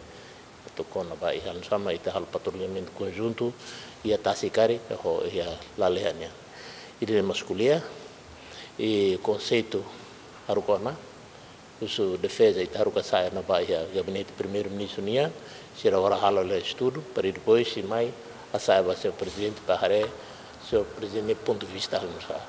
Atu kona-ba iha, hanesan ita halo patrullamentu konjuntu iha tasi karik ho iha lalehan nian. Ida-ne'e mós ko'alia, i konseitu haruka ona, husu defeza ita haruka sa'e ona ba iha gabinete Primeiru-Ministru nian, sira agora halo hela estudu, para depois sei mai hasa'e ba señór Prezidente para haree señór Prezidente nia pontu de vista hanesan.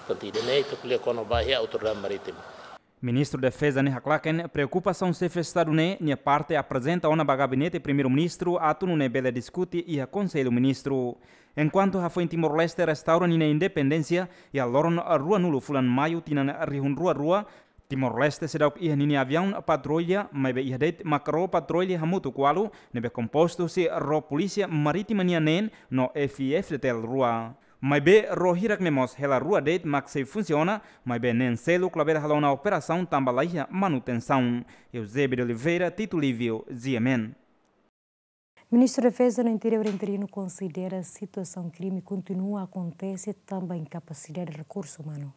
Portantu, ida-ne'e ita ko'alia kona-ba iha autoridade marítima. Ministru Defeza ne'e haklaken preokupasaun Xefe Estadu ne'e nia parte aprezenta ona ba Gabinete Primeiru-Ministru atu nune'e bele diskute iha Konsellu Ministru. Enkuantu hafoin Timor-Leste restaura ninia independénsia iha loron ruanulu fulan Maiu tinan rihun rua rua, Timor-Leste seidauk iha ninia aviaun patrulla, maibé iha de'it mak ró patrulla hamutuk ualu, ne'ebé kompostu husi ró Polísia Marítima nian neen no F-FDTL rua. Maibé ró hirak ne'e mós hela rua de'it mak sei funsiona, maibé neen seluk labele halo ona operasaun tanba laiha manutensaun. Eusébio de Oliveira, Tito Livio, G M N. Ministru Defeza no Interiór interinu konsidera situasaun krime kontinua akontese tanba inkapasidade rekursu umanu.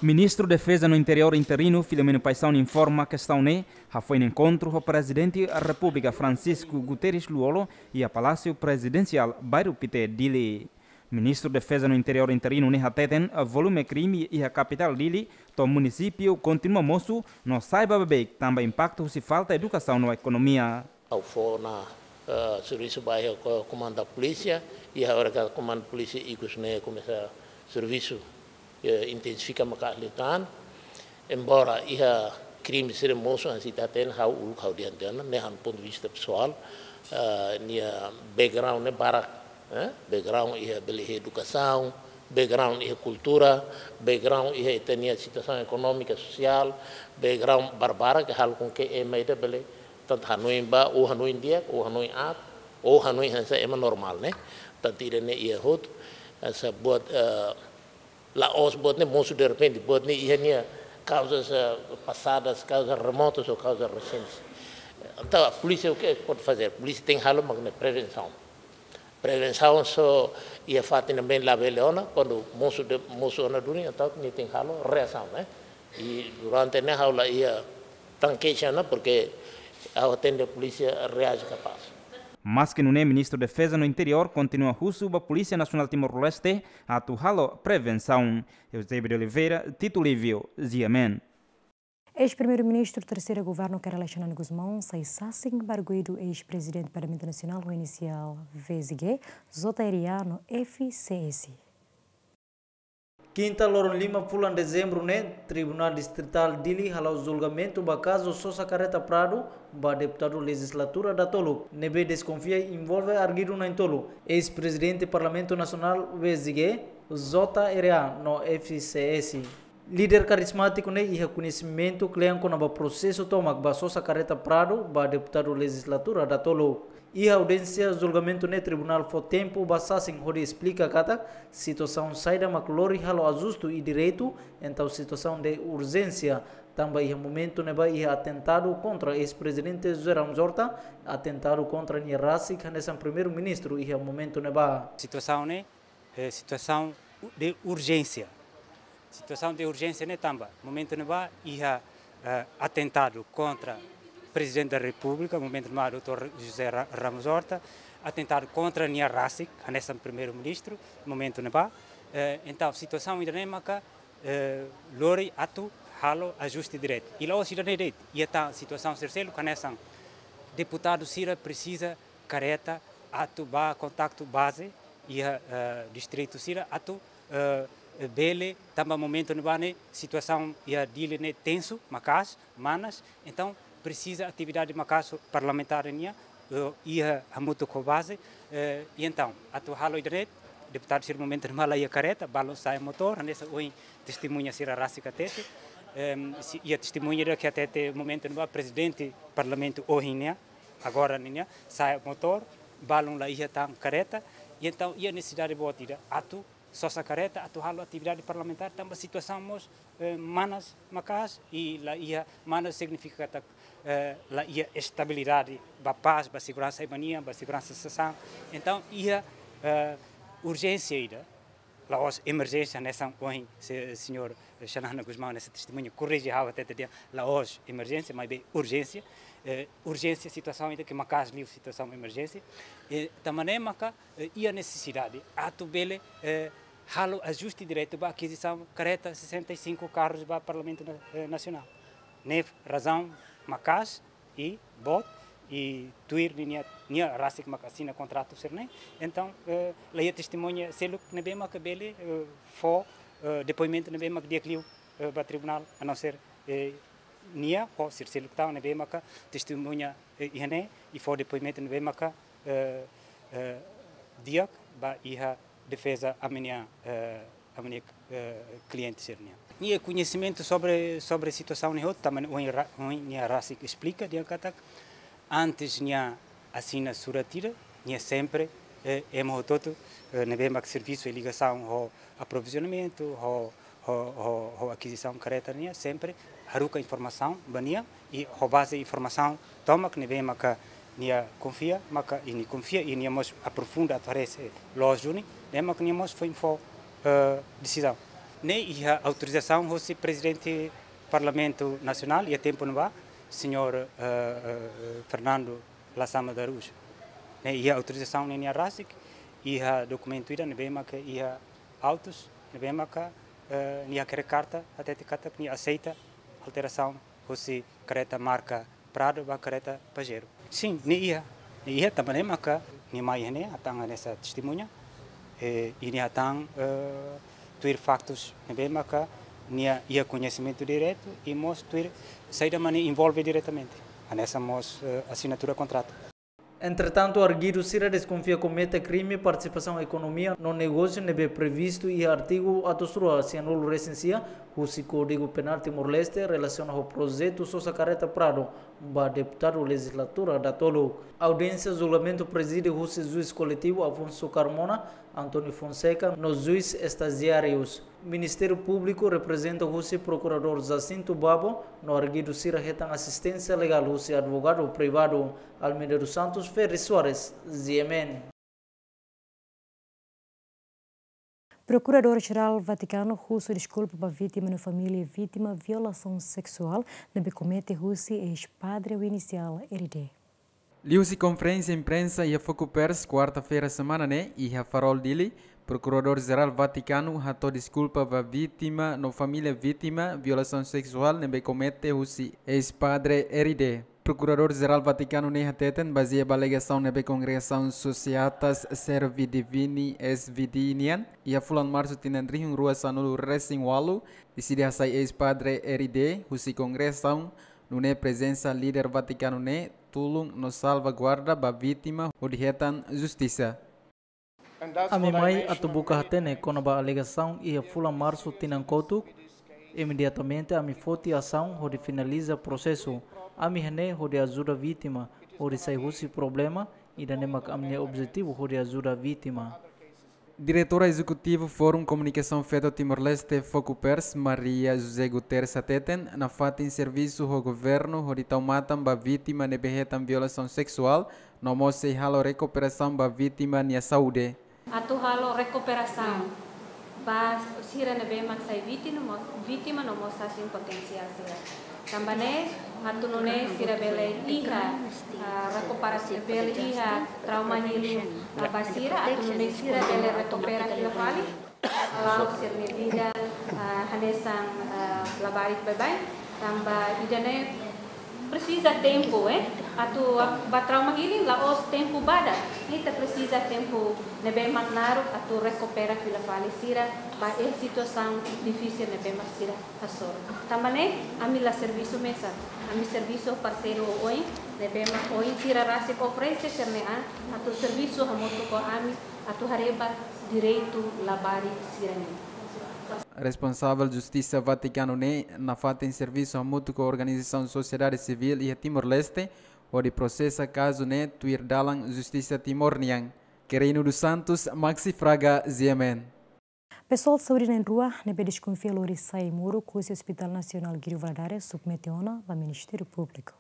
Ministru Defeza no Interiór interinu, Filomeno Paixão, informa kestaun ne'e hafoin enkontru ho Prezidente Repúblika Francisco Guterres Lú-Olo iha Palásiu Prezidensiál Bairru Pité, Dili. Ministru Defeza no Interiór interinu ne'e hateten volume krime iha kapitál Dili to'o munisípiu kontinua mosu no sai ba beibeik tanba impaktu husi falta edukasaun no ekonomia. Ha'u fó ona, eh, servisu ba iha ko-, komandu polísia, i agora ka komandu polísia ikus ne'e komesa servisu, eh, intensifika maka ahli tan. Embora iha krime sira mosu, hanesan ita hatene, ha'u uluk ha'u dehan tiha ona, ne'e ha'u-nia pontu de vista pesoál, eh, nia background ne'e barak, eh, background iha bele iha edukasaun, background iha kultura, background iha ita-nia situasaun ekonómika, sosiál, background barbarak ke halo com que ema ida bele tantu hanoin ba, ou hanoin di'ak, ou hanoin aat, ou hanoin hanesan ema normál, ne'e. Tantu ida-ne'e iha hotu, hanesan buat, eh, la'ós buat ne'e mosu derrepente, buat ne'e iha nia kauzas, eh, pasadas, kauzas remotas ou kauzas resentes. Entaun, polísia o que pode fazer? Polísia tenke halo mak ne'e prevensaun. Prevensaun só iha fatin ne'ebé labele ona, kuandu mosu de, mosu ona duni, entaun nia tenke halo reasaun, ne'e. I durante ne'e ha'u la iha tan keixa ona, porke ha'u hatene polísia reaje kapás. Maske nune'e, Ministru Defeza no Interiór kontinua husu ba Polísia Nasionál Timor-Leste atu halo prevensaun. Eusébio de Oliveira, Tito Livio, G M N. Eis-Primeiru-Ministru Terseira Governu Kay Rala Xanana Gusmão sai sasin ba arguidu eis-Prezidente Parlamentu Nasionál ho inisiál V Z G, J R A no F C S. Kinta loron lima fulan Dezembru ne'e, Tribunál Distritál Dili hala'o julgamentu ba kazu sosa kareta Prado ba deputadu lejizlatura datoluk, ne'ebé deskonfia envolve arguidu na'in-tolu, eis-Prezidente Parlamentu Nasionál V Z G, J R A no F C S. Líder karizmátiku ne'e iha koñesimentu kle'an kona-ba prosesu tomak ba sosa kareta Prado ba deputadu lejizlatura datoluk. Iha audiénsia julgamentu ne'e, tribunál fó tempu ba sasin hodi esplika katak situasaun saida mak lori halo ajustu i direitu, entaun situasaun de urjénsia, tanba iha momentu ne'ebá iha atentadu kontra eis-prezidente José Ramos Horta, atentadu kontra nia rasik hanesan primeiru-ministru iha momentu ne'ebá. Situasaun ne'e, eh, situasaun de urjénsia. Situasaun de urjénsia ne'e tanba momentu ne'ebá iha, eh, atentadu kontra Prezidente da Repúblika, momentu ne'ebá doutór José Ra-, Ramos Horta, atentadu kontra nia rasik hanesan primeiru-ministru, momentu ne'ebá. Eh, entaun, situasaun ida-ne'e maka, eh, lori atu halo ajuste diretu. I la'ós ida-ne'e de'it, iha tan situasaun sira seluk hanesan deputadu sira presiza kareta atu bá kontaktu baze iha, eh, distritu sira atu, eh, bele, tanba momentu ne'ebá ne'e situasaun iha Dili ne'e tensu maka'as, manas, entaun presiza atividade maka'as parlamentár nian, eh, iha hamutuk ho baze, eh, i entaun atu halo ida-ne'e, deputadu sira momentu ne'ebá la iha kareta, balun sa'e motór, hanesan ohin testemuña sira rasik hatete, em, si, iha testemuña ida ke hatete momentu ne'ebá prezidente parlamentu ohin nian, agora nian, sa'e motór, balun la iha tan kareta, i entaun iha nesesidade boot ida atu sosa kareta atu halo atividade parlamentár, tanba situasaun mós, eh, manas maka'as i la iha, manas signifika katak, eh, la iha estabilidade ba pás, ba seguransa ema nian, ba seguransa sasán. Entaun iha, eh, urjénsia ida, la'ós emerjénsia hanesan ohin se-, señór Xanana Gusmão hanesan testemuña korrije ha'u hatete dehan la'ós emerjénsia, maibé urjénsia. Eh, urjénsia situasaun ida ke maka'as liu situasaun emerjénsia. Eh, tanba ne'e maka, eh, iha nesesidade atu bele, eh, halo ajuste diretu ba akizisaun kareta sessenta e cinco carros ba Parlamentu Na-, eh, Nasionál. Ne'e razaun maka'as i boot, i tuir ninia, nia rasik mak asina kontratu sira-ne'e. Entaun, eh, la iha testemuña seluk ne'ebé mak bele, eh, fó, eh, depoimentu ne'ebé mak di'ak liu, eh, ba tribunál, a não ser, eh, nia, ho sira seluk tan ne'ebé mak testemuña, eh, iha ne'e, i fó depoimentu ne'ebé mak, eh, eh, di'ak ba iha defeza ami-nia, eh, ami-nia, eh, kliente sira-nian. Nia koñesimentu sobre, sobre situasaun ne'e hotu, tanba ohin ra-, ohin nia rasik esplika dehan katak antes nia asina surat ida, nia sempre, eh, ema hotu-hotu, eh, ne'ebé mak servisu iha ligasaun ho aprovizionamentu, ho, ho, ho, ho akizisaun kareta nian, sempre haruka informasaun ba nia, i ho baze informasaun tomak ne'ebé maka nia konfia, maka i nia konfia, i nia mós aprofunda atu haree se loos duni, ne'e maka nia mós foin fó, eh, desizaun. Ne'e iha autorizasaun hosi Prezidente Parlamentu Nasionál iha tempu ne'ebá, señór, eh, eh, Fernando Lasama da Araújo. Ne'e iha autorizasaun ne'e nia rasik, iha dokumentu ida ne'ebé maka iha autus, ne'ebé maka, eh, nia hakerek karta, hatete katak nia aseita alterasaun hosi kareta marka Prado ba kareta Pajero. Sin, ne'e iha, ne'e iha tanba ne'e maka nia mai iha ne'e, hatán hanesan testemuña, eh, i nia hatán, eh, tuir faktus ne'ebé maka nia iha koñesimentu diretu, i mós tuir saida mak nia envolve diretamente, hanesan mós, eh, asinatura kontratu. Entretantu, arguidu sira deskonfia komete krime partisipasaun ekonomia no negósiu ne'ebé previstu iha artigu atus rua sianulu resin sia husi Kódigu Penál Timor-Leste relasiona ho projetu sosa kareta Prado ba deputadu lejizlatura datoluk. Audiénsia julgamentu prezide husi juís koletivu Afonso Carmona, António Fonseca no juís estajiárius. Ministériu Públiku reprezenta husi Prokuradór Jacinto Babo, no arguidu sira hetan asisténsia legál husi advogadu privadu. Almeida dos Santos, Ferri Soares, G M N. Prokuradór Jerál Vatikanu husu deskulpa ba vítima no família vítima violasaun seksuál ne'ebé komete husi eis-padre ho inisiál R D. Liuhusi konferénsia imprensa iha Foco Press, kuarta-feira semana ne'e, iha Farol Dili, Prokuradór Jerál Vatikanu hato'o deskulpa ba vítima no família vítima violasaun seksuál ne'ebé komete husi eis-padre R D. Prokuradór Jerál Vatikanu ne'e hateten, bazeia ba alegasaun ne'ebé Kongregasaun Societas Servi Divini, S V D, nian, iha fulan Marsu tinan rihun rua sanulu resin ualu, deside hasai eis-padre R D husi kongregasaun, nune'e prezensa líder Vatikanu ne'e tulun no salvaguarda ba vítima hodi hetan justisa. Ami mai atu buka hatene kona-ba alegasaun iha fulan Marsu tinan kotuk. Imediatamente ami foti asaun hodi finaliza prosesu. Ami iha ne'e hodi ajuda vítima hodi sai husi problema Ida-ne'e mak ami-nia objetivu hodi ajuda vítima. Diretora Ezekutiva Fórum Komunikasaun Feto Timor-Leste, Fokupers, Maria José Guterres hateten, nafatin servisu ho governu hodi tau matan ba vítima ne'ebé hetan violasaun seksuál, no mós sei halo rekuperasaun ba vítima nia saúde. Atu halo rekuperasaun ba sira ne'ebé mak sai vítima, vítima no mós sasin potensiál sira. Tanba ne'e, atu nune'e sira bele iha, ah, rekuperasaun, bele iha trauma healing, ah, ba sira, atu nune'e sira bele rekupera fila fali. La'o sira-nia vida, ah, hanesan, ah, labarik baibain, tanba ida-ne'e presiza tempu, eh. Atu ba trauma healing la'ós tempu badak. Ita presiza tempu ne'ebé mak naruk atu rekupera fila fali sira ba iha situasaun difisil ne'ebé mak sira hasoru. Tanba ne'e, ami la servisu mesak. Ami servisu parseiru oioin, ne'ebé mak ohin sira rasik oferese sira-nia an, atu servisu hamutuk ho ami, atu haree ba direitu labarik sira-ne'e. Responsavel Justisa Vatikanu ne'e nafatin servisu hamutuk ho organizasaun sosiedade sivíl iha Timor-Leste, hodi prosesa kazu ne'e tuir dalan justisa Timor nian. Querino dos Santos, Maxi Fraga, G M N. Pesoál saúde na'in-rua ne'ebé deskonfia lori sai ai-moruk husi Hospital Nasionál Guido Valadares submete ona ba Ministériu Públiku.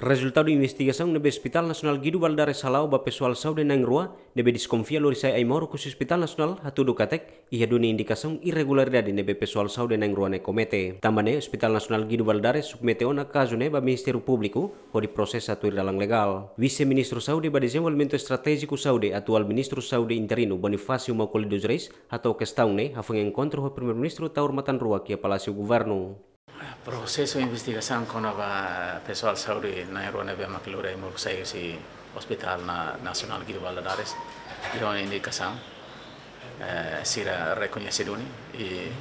Rezultadu investigasaun ne'ebé Hospital Nasionál Guido Valadares hala'o ba pesoál saúde na'in-rua ne'ebé deskonfia lori sai ai-moruk husi Hospital Nasionál hatudu katak iha duni indikasaun irregularidade ne'ebé pesoál saúde na'in-rua ne'e komete. Tanba ne'e Hospital Nasionál Guido Valadares submete ona kazu ne'e ba Ministériu Públiku hodi prosesa tuir dalan legál. Vise-Ministru Saúde ba Dezenvolvimentu Estratéjiku Saúde, atuál Ministru Saúde interinu Bonifácio Maukoli dos Reis hato'o kestaun ne'e hafoin enkontru ho Primeiru-Ministru Taur Matan Ruak iha Palásiu Governu. Prosesu investigasaun kona-ba pesoál saúde na'in-rua ne'ebé mak lori ai-moruk sai husi Hospital na-, Nasionál Guido Valadares, iha indikasaun, eh, sira rekoñese duni, i,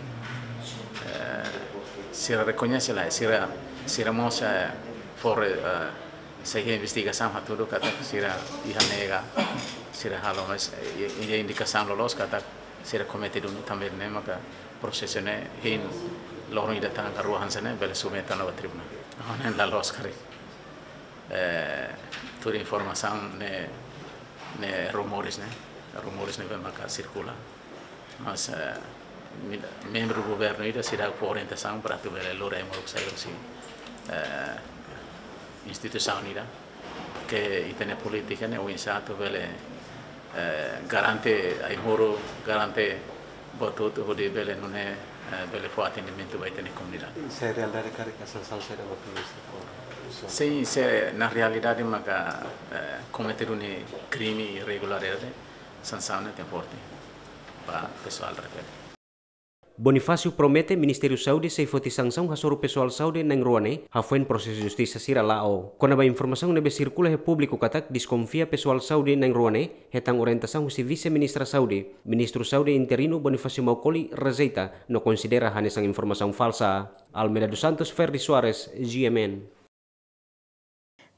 eh, sira rekoñese la, sira, sira mós, eh, fó, eh, sei investigasaun hatudu katak sira iha nega, sira halo, mas, eh, i, i indikasaun loloos katak sira komete duni, tanba ne'e maka prosesu ne'e hein loron ida tan ka rua hanesan ne'e bele submete ona ba tribunál. Ne'e la loos karik. Eh, tuir informasaun ne'e, ne'e rumores ne'e, rumores ne'ebé maka sirkula. Mas, eh, mi-, membru governu ida seidauk fó orientasaun para atu bele lori ai-moruk sai husi, eh, instituisaun ida. Ke ita-nia polítika ne'e oinsá atu bele, eh, garante ai-moruk, garante buat hotu hodi bele nune'e, eh, bele fó atendimentu ba ita-nia komunidade. Se realidade karik sansaun saida mak Ministru fó? Sin, se na realidade maka, eh, komete duni krime irregularidade, sansaun ne'e tenke forte ba pesoál refere. Bonifácio promete Ministériu Saúde sei foti sansaun hasoru pesoál saúde na'in-rua ne'e hafoin prosesu justisa sira la'o. Kona-ba informasaun ne'ebé sirkula iha públiku katak deskonfia pesoál saúde na'in-rua ne'e hetan orientasaun husi Vise-Ministra Saúde, Ministru Saúde interinu Bonifácio Maukoli rejeita no konsidera hanesan informasaun falsa. Almeida dos Santos, Ferdi Soares, G M N.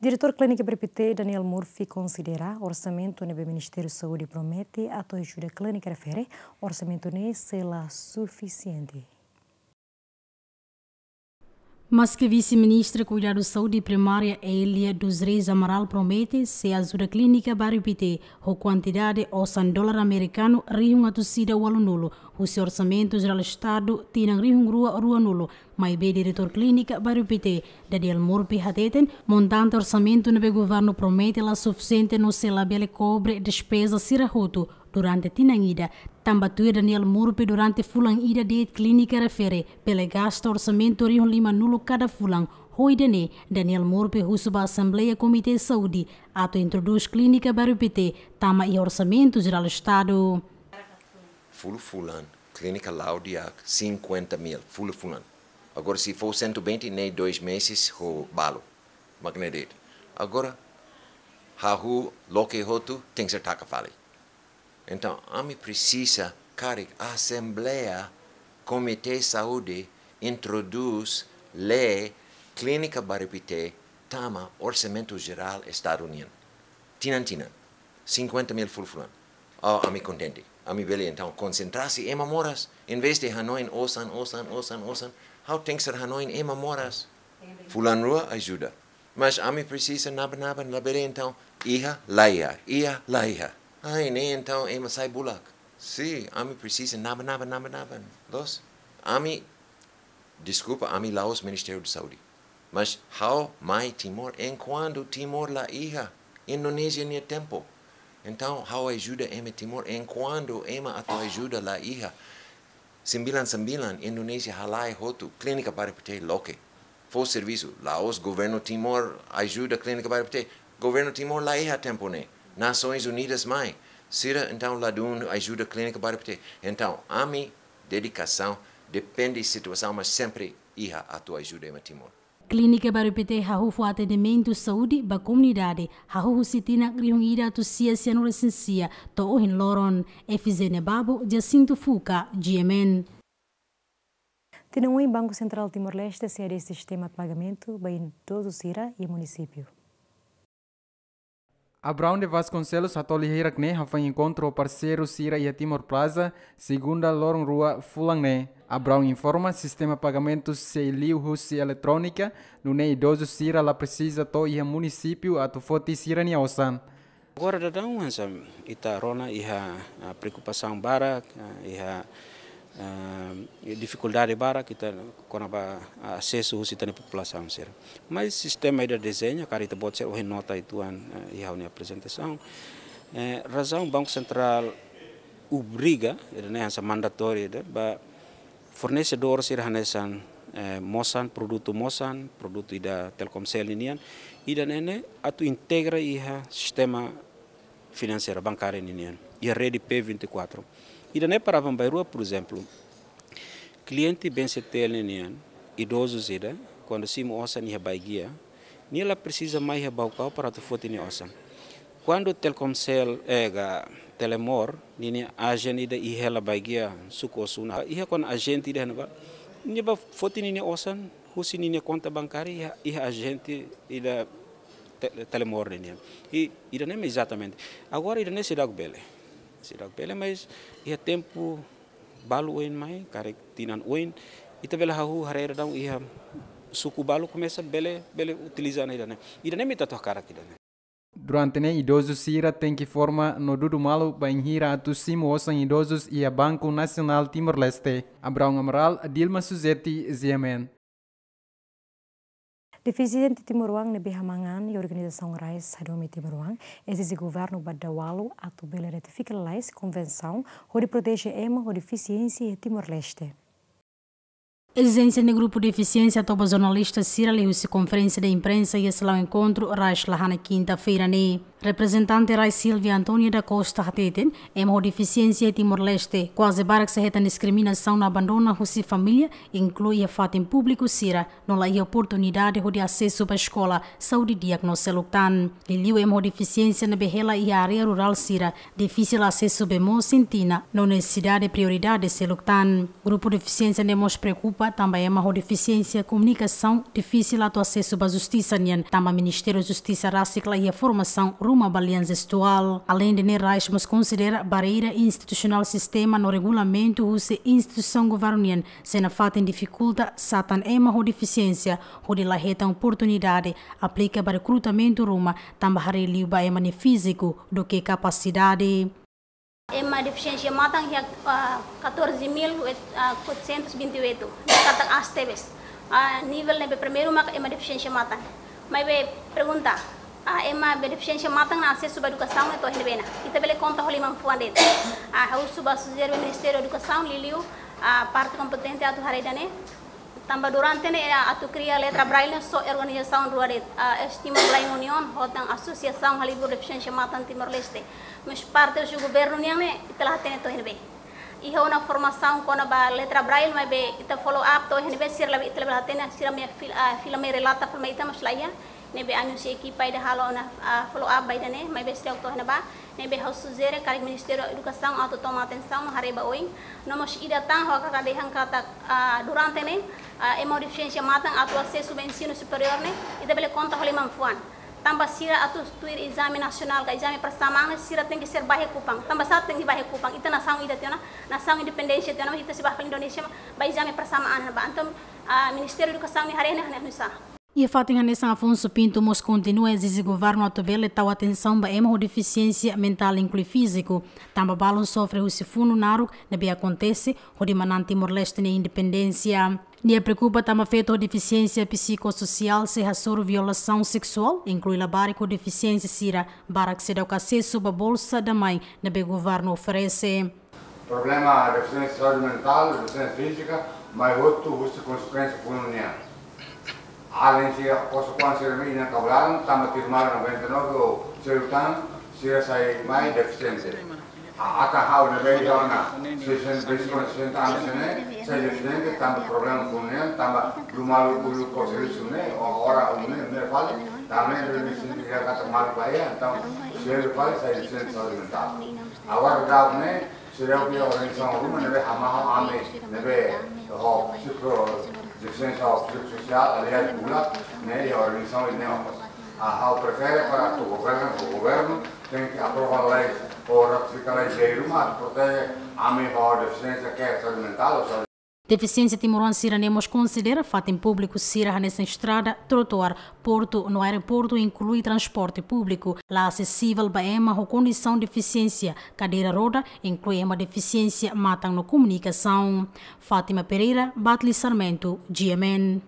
Diretór Klínika Baripité, Daniel Murphy, konsidera orsamentu ne'ebé Ministériu Saúde promete atu ajuda klínika refere, orsamentu ne'e sei la sufisiente. Maske Vise-Ministra Kuidadu Saúde Primária, Elia dos Reis Amaral, promete sei ajuda Klínika Baripité ho kuantidade osan dolar amerikanu rihun atus ida ualunulu husi Orsamentu Jerál Estadu tinan rihun rua ruanulu, maibé Diretór Klínika Baripité, Daniel Murphy, hateten montante orsamentu ne'ebé governu promete la sufisiente no sei labele kobre despeza sira hotu durante tinan ida. Tanba tuir Daniel Murphy, durante fulan ida de'it klínika refere bele gasta orsamentu rihun limanulu kada fulan. Ho ida-ne'e, Daniel Murphy husu ba Asembleia Komité Saúde atu introdús Klínika Baripité tama iha Orsamentu Jerál Estadu. Fulan-fulan, klínika la'o di'ak, cinquenta mil, fulan-fulan. Agora, se fó cento e vinte, ne'e dois meses ho balu. Mak ne'e de'it. Agora, hahú loke hotu, tenke ser taka fali. Entaun, ami presiza karik Asembleia, Komité Saúde introdús lei Klínika Baripité tama Orsamentu Jerál Estadu nian. Tinan-tinan. Cinquenta mil fulan-fulan. Oh, ami kontente. Ami bele entaun konsentra husi ema moras. Em vez de hanoin osan, osan, osan, osan, ha'u tenke ser hanoin ema moras. Fulan-rua ajuda. Mas ami presiza naba-naba, labele entaun iha, la iha, iha, la iha. Ai, ne'e entaun ema sai bulak. Sin, ami presiza naba-naba, naba-naba. Loos, ami, deskulpa, ami la'ós Ministériu Saúde. Mas ha'u mai Timor enkuantu Timor la iha Indonézia nia tempu. Entaun ha'u ajuda ema Timor enkuantu ema atu ajuda la iha. Sembilan sembilan Indonézia halai hotu klínika Bairru Pité loke. Fó servisu, la'ós governu Timor ajuda klínika Bairru Pité. Governu Timor la iha tempu ne'e. Nasoins Unidas mai. Sira entaun ladún ajuda klínika Bairru Pité. Entaun ami dedikasaun depende situasaun, mas sempre iha atu ajuda ema Timor. Klínika Bairru Pité hahú fó atendimentu saúde ba komunidade, hahú husi tinan rihun ida atus sia sianulu resin sia to'o ohin loron. Efizénia Babo, Jacinto Fuca, G M N. Tinan oin Banku Sentrál Timor-Leste sei hadeer sistema pagamentu ba idozu sira iha munisípiu. Abraão de Vasconcelos hato'o lia hirak-ne'e hafahe enkontru ho parseiru sira iha Timor Plaza, segunda loron rua fulan ne'e. Abraão informa sistema pagamentu sei liu husi eletrónika, nune'e idozu sira la presiza to'o iha munisípiu atu foti sira-nia osan. Agora daudaun hanesan ita rona iha, ah, preokupasaun barak, ah, iha, ah, difikuldade barak ita kona-ba, ah, asesu husi ita-nia populasaun sira. Mas sistema ida dezeña, karik ita-boot sira ohin nota uitoan, ah, iha ha'u-nia aprezentasaun. Eh, razaun Banku Sentrál obriga, ida-ne'e hanesan mandatóriu ida, ba fornesedór sira hanesan, eh, Mosan, produtu Mosan, produtu ida Telkomcel ninian, ida-ne'e ne'e atu integra iha sistema finanseira bankária ninian, iha rede P vinte e quatro. Ida-ne'e para aban-bainrua, por ezemplu, kliente BNCTL ninian, idozu sira, kuandu simu osan iha bainhira, nia la presiza mai iha Baucau para atu foti nia osan. Kuandu Telkomcel, eh, ka Telemor, ninia ajen ida iha hela bainhira suku Ossuna. Iha kuandu ajente ida iha ne'ebá, nia bá foti ninia osan, husi ninia konta bankária iha, iha ajente ida Te-, Telemor ninian. I, ida-ne'e mak ezatamente. Agora ida-ne'e seidauk bele. Seidauk bele, mas iha tempu balu oin mai, karik tinan oin, ita bele hahú haree daudaun iha suku balu komesa bele, bele utiliza ona ida-ne'e. Ida-ne'e mak ita atu hakarak ida-ne'e. Durante ne'e idozu sira tenke forma no dudu malu bainhira atu simu osan idozus iha Banku Nasionál Timor-Leste. Abraão Amaral, Dilma Suzeti, G M N. Defisiente timoroan ne'ebé hamaan an iha organizasaun rais hadomi timoroan ezije governu ba dawalu atu bele ratifika lalais konvensaun hodi proteje ema ho defisiénsia iha Timor-Leste. Ezijénsia ne'e grupu defisiénsia hato'o ba jornalista sira liuhusi konferénsia de imprensa iha seluk enkontru rais la hanesan kinta-feira ne'e. Reprezentante rais Silvia Antónia da Costa hateten, ema ho defisiénsia iha Timor-Leste kuaze barak sei hetan diskriminasaun no abandona husi família, inklui iha fatin públiku sira, no la iha oportunidade hodi asesu ba eskola, saúde di'ak no seluk tan. Liuliu ema ho defisiénsia ne'ebé hela iha área rurál sira, difisil asesu bee moos iha tinan, no nesesidade prioridade seluk tan. Grupu defisiénsia ne'e mós preokupa tanba ema ho defisiénsia komunikasaun difisil atu asesu ba justisa nian, tanba Ministériu Justisa rasik la iha formasaun ruma ba lian jestuál. Aleinde ne'e, rais mós konsidera barreira institusionál sistema no regulamentu husi instituisaun governu nian, sei nafatin difikulta satan ema ho defisiénsia hodi la hetan oportunidade aplika ba rekrutamentu ruma, tanba haree liu ba ema nia fíziku duké kapasidade. Ema defisiénsia matan iha, ah, catorze mil, ah, quatrocentos e vinte e oito. Ne'e katak aas tebes. Ah, nivel ne'ebé primeiru maka ema defisiénsia matan. Maibé pergunta, ah, ema be defisiénsia matan nia asesu ba edukasaun ne'e to'o iha ne'ebé ona? Ita bele konta ho liman fuan de'it. Ah, ha'u husu ba sujere ba Ministériu Edukasaun, liuliu, ah, parte kompetente atu haree ida-ne'e. Tanba durante ne'e, ah, atu kria letra braille ne'e só organizasaun rua de'it, ah, East Timor Blind Union, ho tan Asosiasaun Halibur Defisiénsia Matan Timor-Leste. Mas parte husi governu nian ne'e, ita la hatene to'o iha ne'ebé. Iha ona formasaun kona-ba letra braille, maibé ita follow up to'o iha ne'ebé, sira labele, ita labele hatene, sira mai fil-, ah, fila mai relata, fila mai ita, mas la iha. Ne'ebé ami husi ekipa ida halo ona, ah, follow up ba ida-ne'e, maibé seidauk to'o iha ne'ebá. Ne'ebé ha'u sujere karik Ministériu Edukasaun atu toma atensaun no haree ba oin. No mós ida tan ha'u hakarak dehan katak, ah, durante ne'e, ah, ema ho defisiénsia matan atu asesu ba ensinu superiór ne'e, ita bele konta ho liman fuan. Tanba sira atu tuir ezame nasionál ka ezame persamaan ne'e, sira tenke ser bá iha Kupang. Tanba sá tenke bá iha Kupang? Ita nasaun ida tiha ona, nasaun independénsia tiha ona, mas ita sei bá fali Indonézia, bá ezame persamaan ba. Entaun, ah, Ministériu Edukasaun ne'e haree ne'e, ne'e nusá? Iha fatin hanesan, Afonso Pinto mós kontinua ezije governu atu bele tau atensaun ba ema ho defisiénsia mentál, inklui fíziku, tanba balun sofre husi funu naruk ne'ebé akontese hodi manán Timor-Leste nia independénsia. Nia preokupa tanba feto ho defisiénsia psikososiál sei hasoru violasaun seksuál, inklui labarik ho defisiénsia sira barak seidauk asesu ba bolsa damain ne'ebé governu oferese. Problema defisiénsia saúde mentál, defisiénsia fízika, mai hotu husi konsekuénsia funu nian. Alin sira, konsekuénsia sira mai inan kablaran, tanba tuir maluk noventa e nove ou seidauk tan, sira sai mai defisiente. A, atan ha'u ne'ebé iha ona sessenta, sessenta anos ne'e, sai defisiente, tanba problema funu nian, tanba dala ruma uluk ho servisu ne'e, o ora um ne'e, ne'e fali, tanba ne'e defisiente iha katak maluk ba iha, entaun, sira fali sai defisiente saúde mentál. Agora daudaun ne'e, sira iha organizasaun ruma ne'ebé hamahon ami, ne'ebé ho psiko-, defisiénsia psikossosiál, aliás, bulak, ne'e iha organizasaun ne'e mós. Ah, ha'u prefere para atu governu, governu tenke aprova leis ou ratifika leis dala ruma atu proteje ami ho defisiénsia ke saúde mentál ou saúde. Defisiénsia timoroan sira-ne'e mós konsidera fatin públiku sira hanesan estrada, trotuár, portu no aeroportu, inklui transporte públiku, la asesivel ba ema ho kondisaun defisiénsia, kadeira roda, inklui ema defisiénsia matan no komunikasaun. Fátima Pereira, Batli Sarmento, G M N.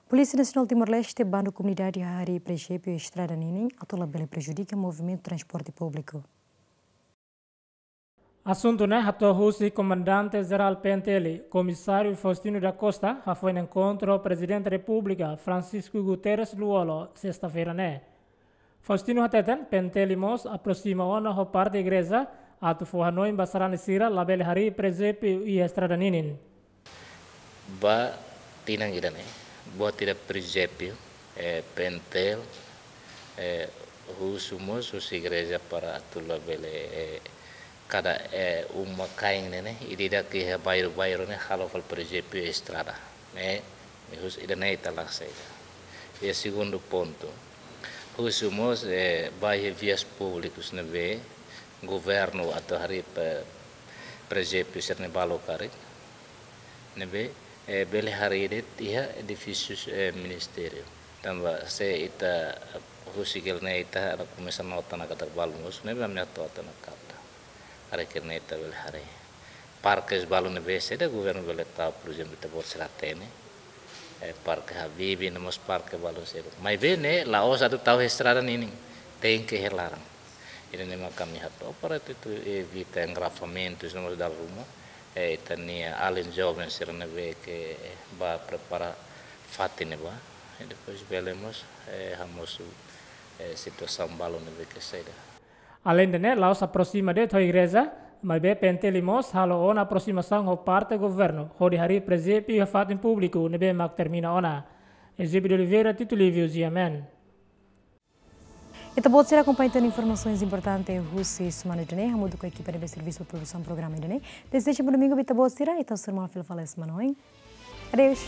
Polísia Nasionál Timor-Leste, bandu komunidade harii prezépiu estrada ninin atu labele prejudika movimentu transporte públiku. Asuntu ne'e hato'o husi Komandante Jerál P N T L, Komisáriu Faustino da Costa, hafoin enkontru ho Prezidente Repúblika, Francisco Guterres Lú-Olo, sesta-feira ne'e. Faustino hateten, P N T L mós aproxima ona ho parte igreja, atu fó hanoin ba sarani sira labele harii prezépiu iha estrada ninin. Ba tinan ida-ne'e, buat ida prezépiu, eh, P N T L, eh, husu mós husi igreja para atu labele, eh, kada, eh, uma-kain ne'e, ida-idak iha bairru-bairru ne'e halo fali prezépiu estrada. Ne'e, ne'e husi ida-ne'e ita la saida. I segundu pontu, husu mós, eh, ba iha vias públikas ne'ebé governu atu harii pe-, prezépiu sira-ne'e balu karik. Ne'ebé, eh, bele harii de'it iha edifísiu, eh, ministériu. Tanba se ita husik hela ne'e ita komesa nota ona katak balu mós, ne'ebé ami atu nota ona katak. Harii kira ne'e ita bele harii. Parke balu ne'ebé saida governu bele tau, por ezemplu, ita-boot sira hatene. Eh, Parke Habibie, no mós parke balu seluk. Maibé ne'e, la'ós atu tau iha estrada ninin. Tenke iha laran. Ida-ne'e mak ami hato'o para atu, atu evita engarrafamentus, no mós dala ruma. Eh, ita-nia alin joven sira ne'ebé ke ba prepara fatin ne'ebá. I depois bele mós, eh, hamosu, eh, situasaun balu ne'ebé ke saida. Aleinde ne'e, la'ós aproxima de'it ho igreja, maibé P N T L mós halo ona aproximasaun ho parte governu, hodi harii prezépiu iha fatin públiku ne'ebé mak termina ona. Eusébio de Oliveira, Tito Livio, G M N. Ita-boot sira akompaña tan informasaun importante husi semana ida-ne'e, hamutuk ho ekipa ne'ebé servisu ba produsaun programa ida-ne'e. Dezeja bom domingu ba ita-boot sira, ita sei hasoru malu fila fali semana oin. Adeus.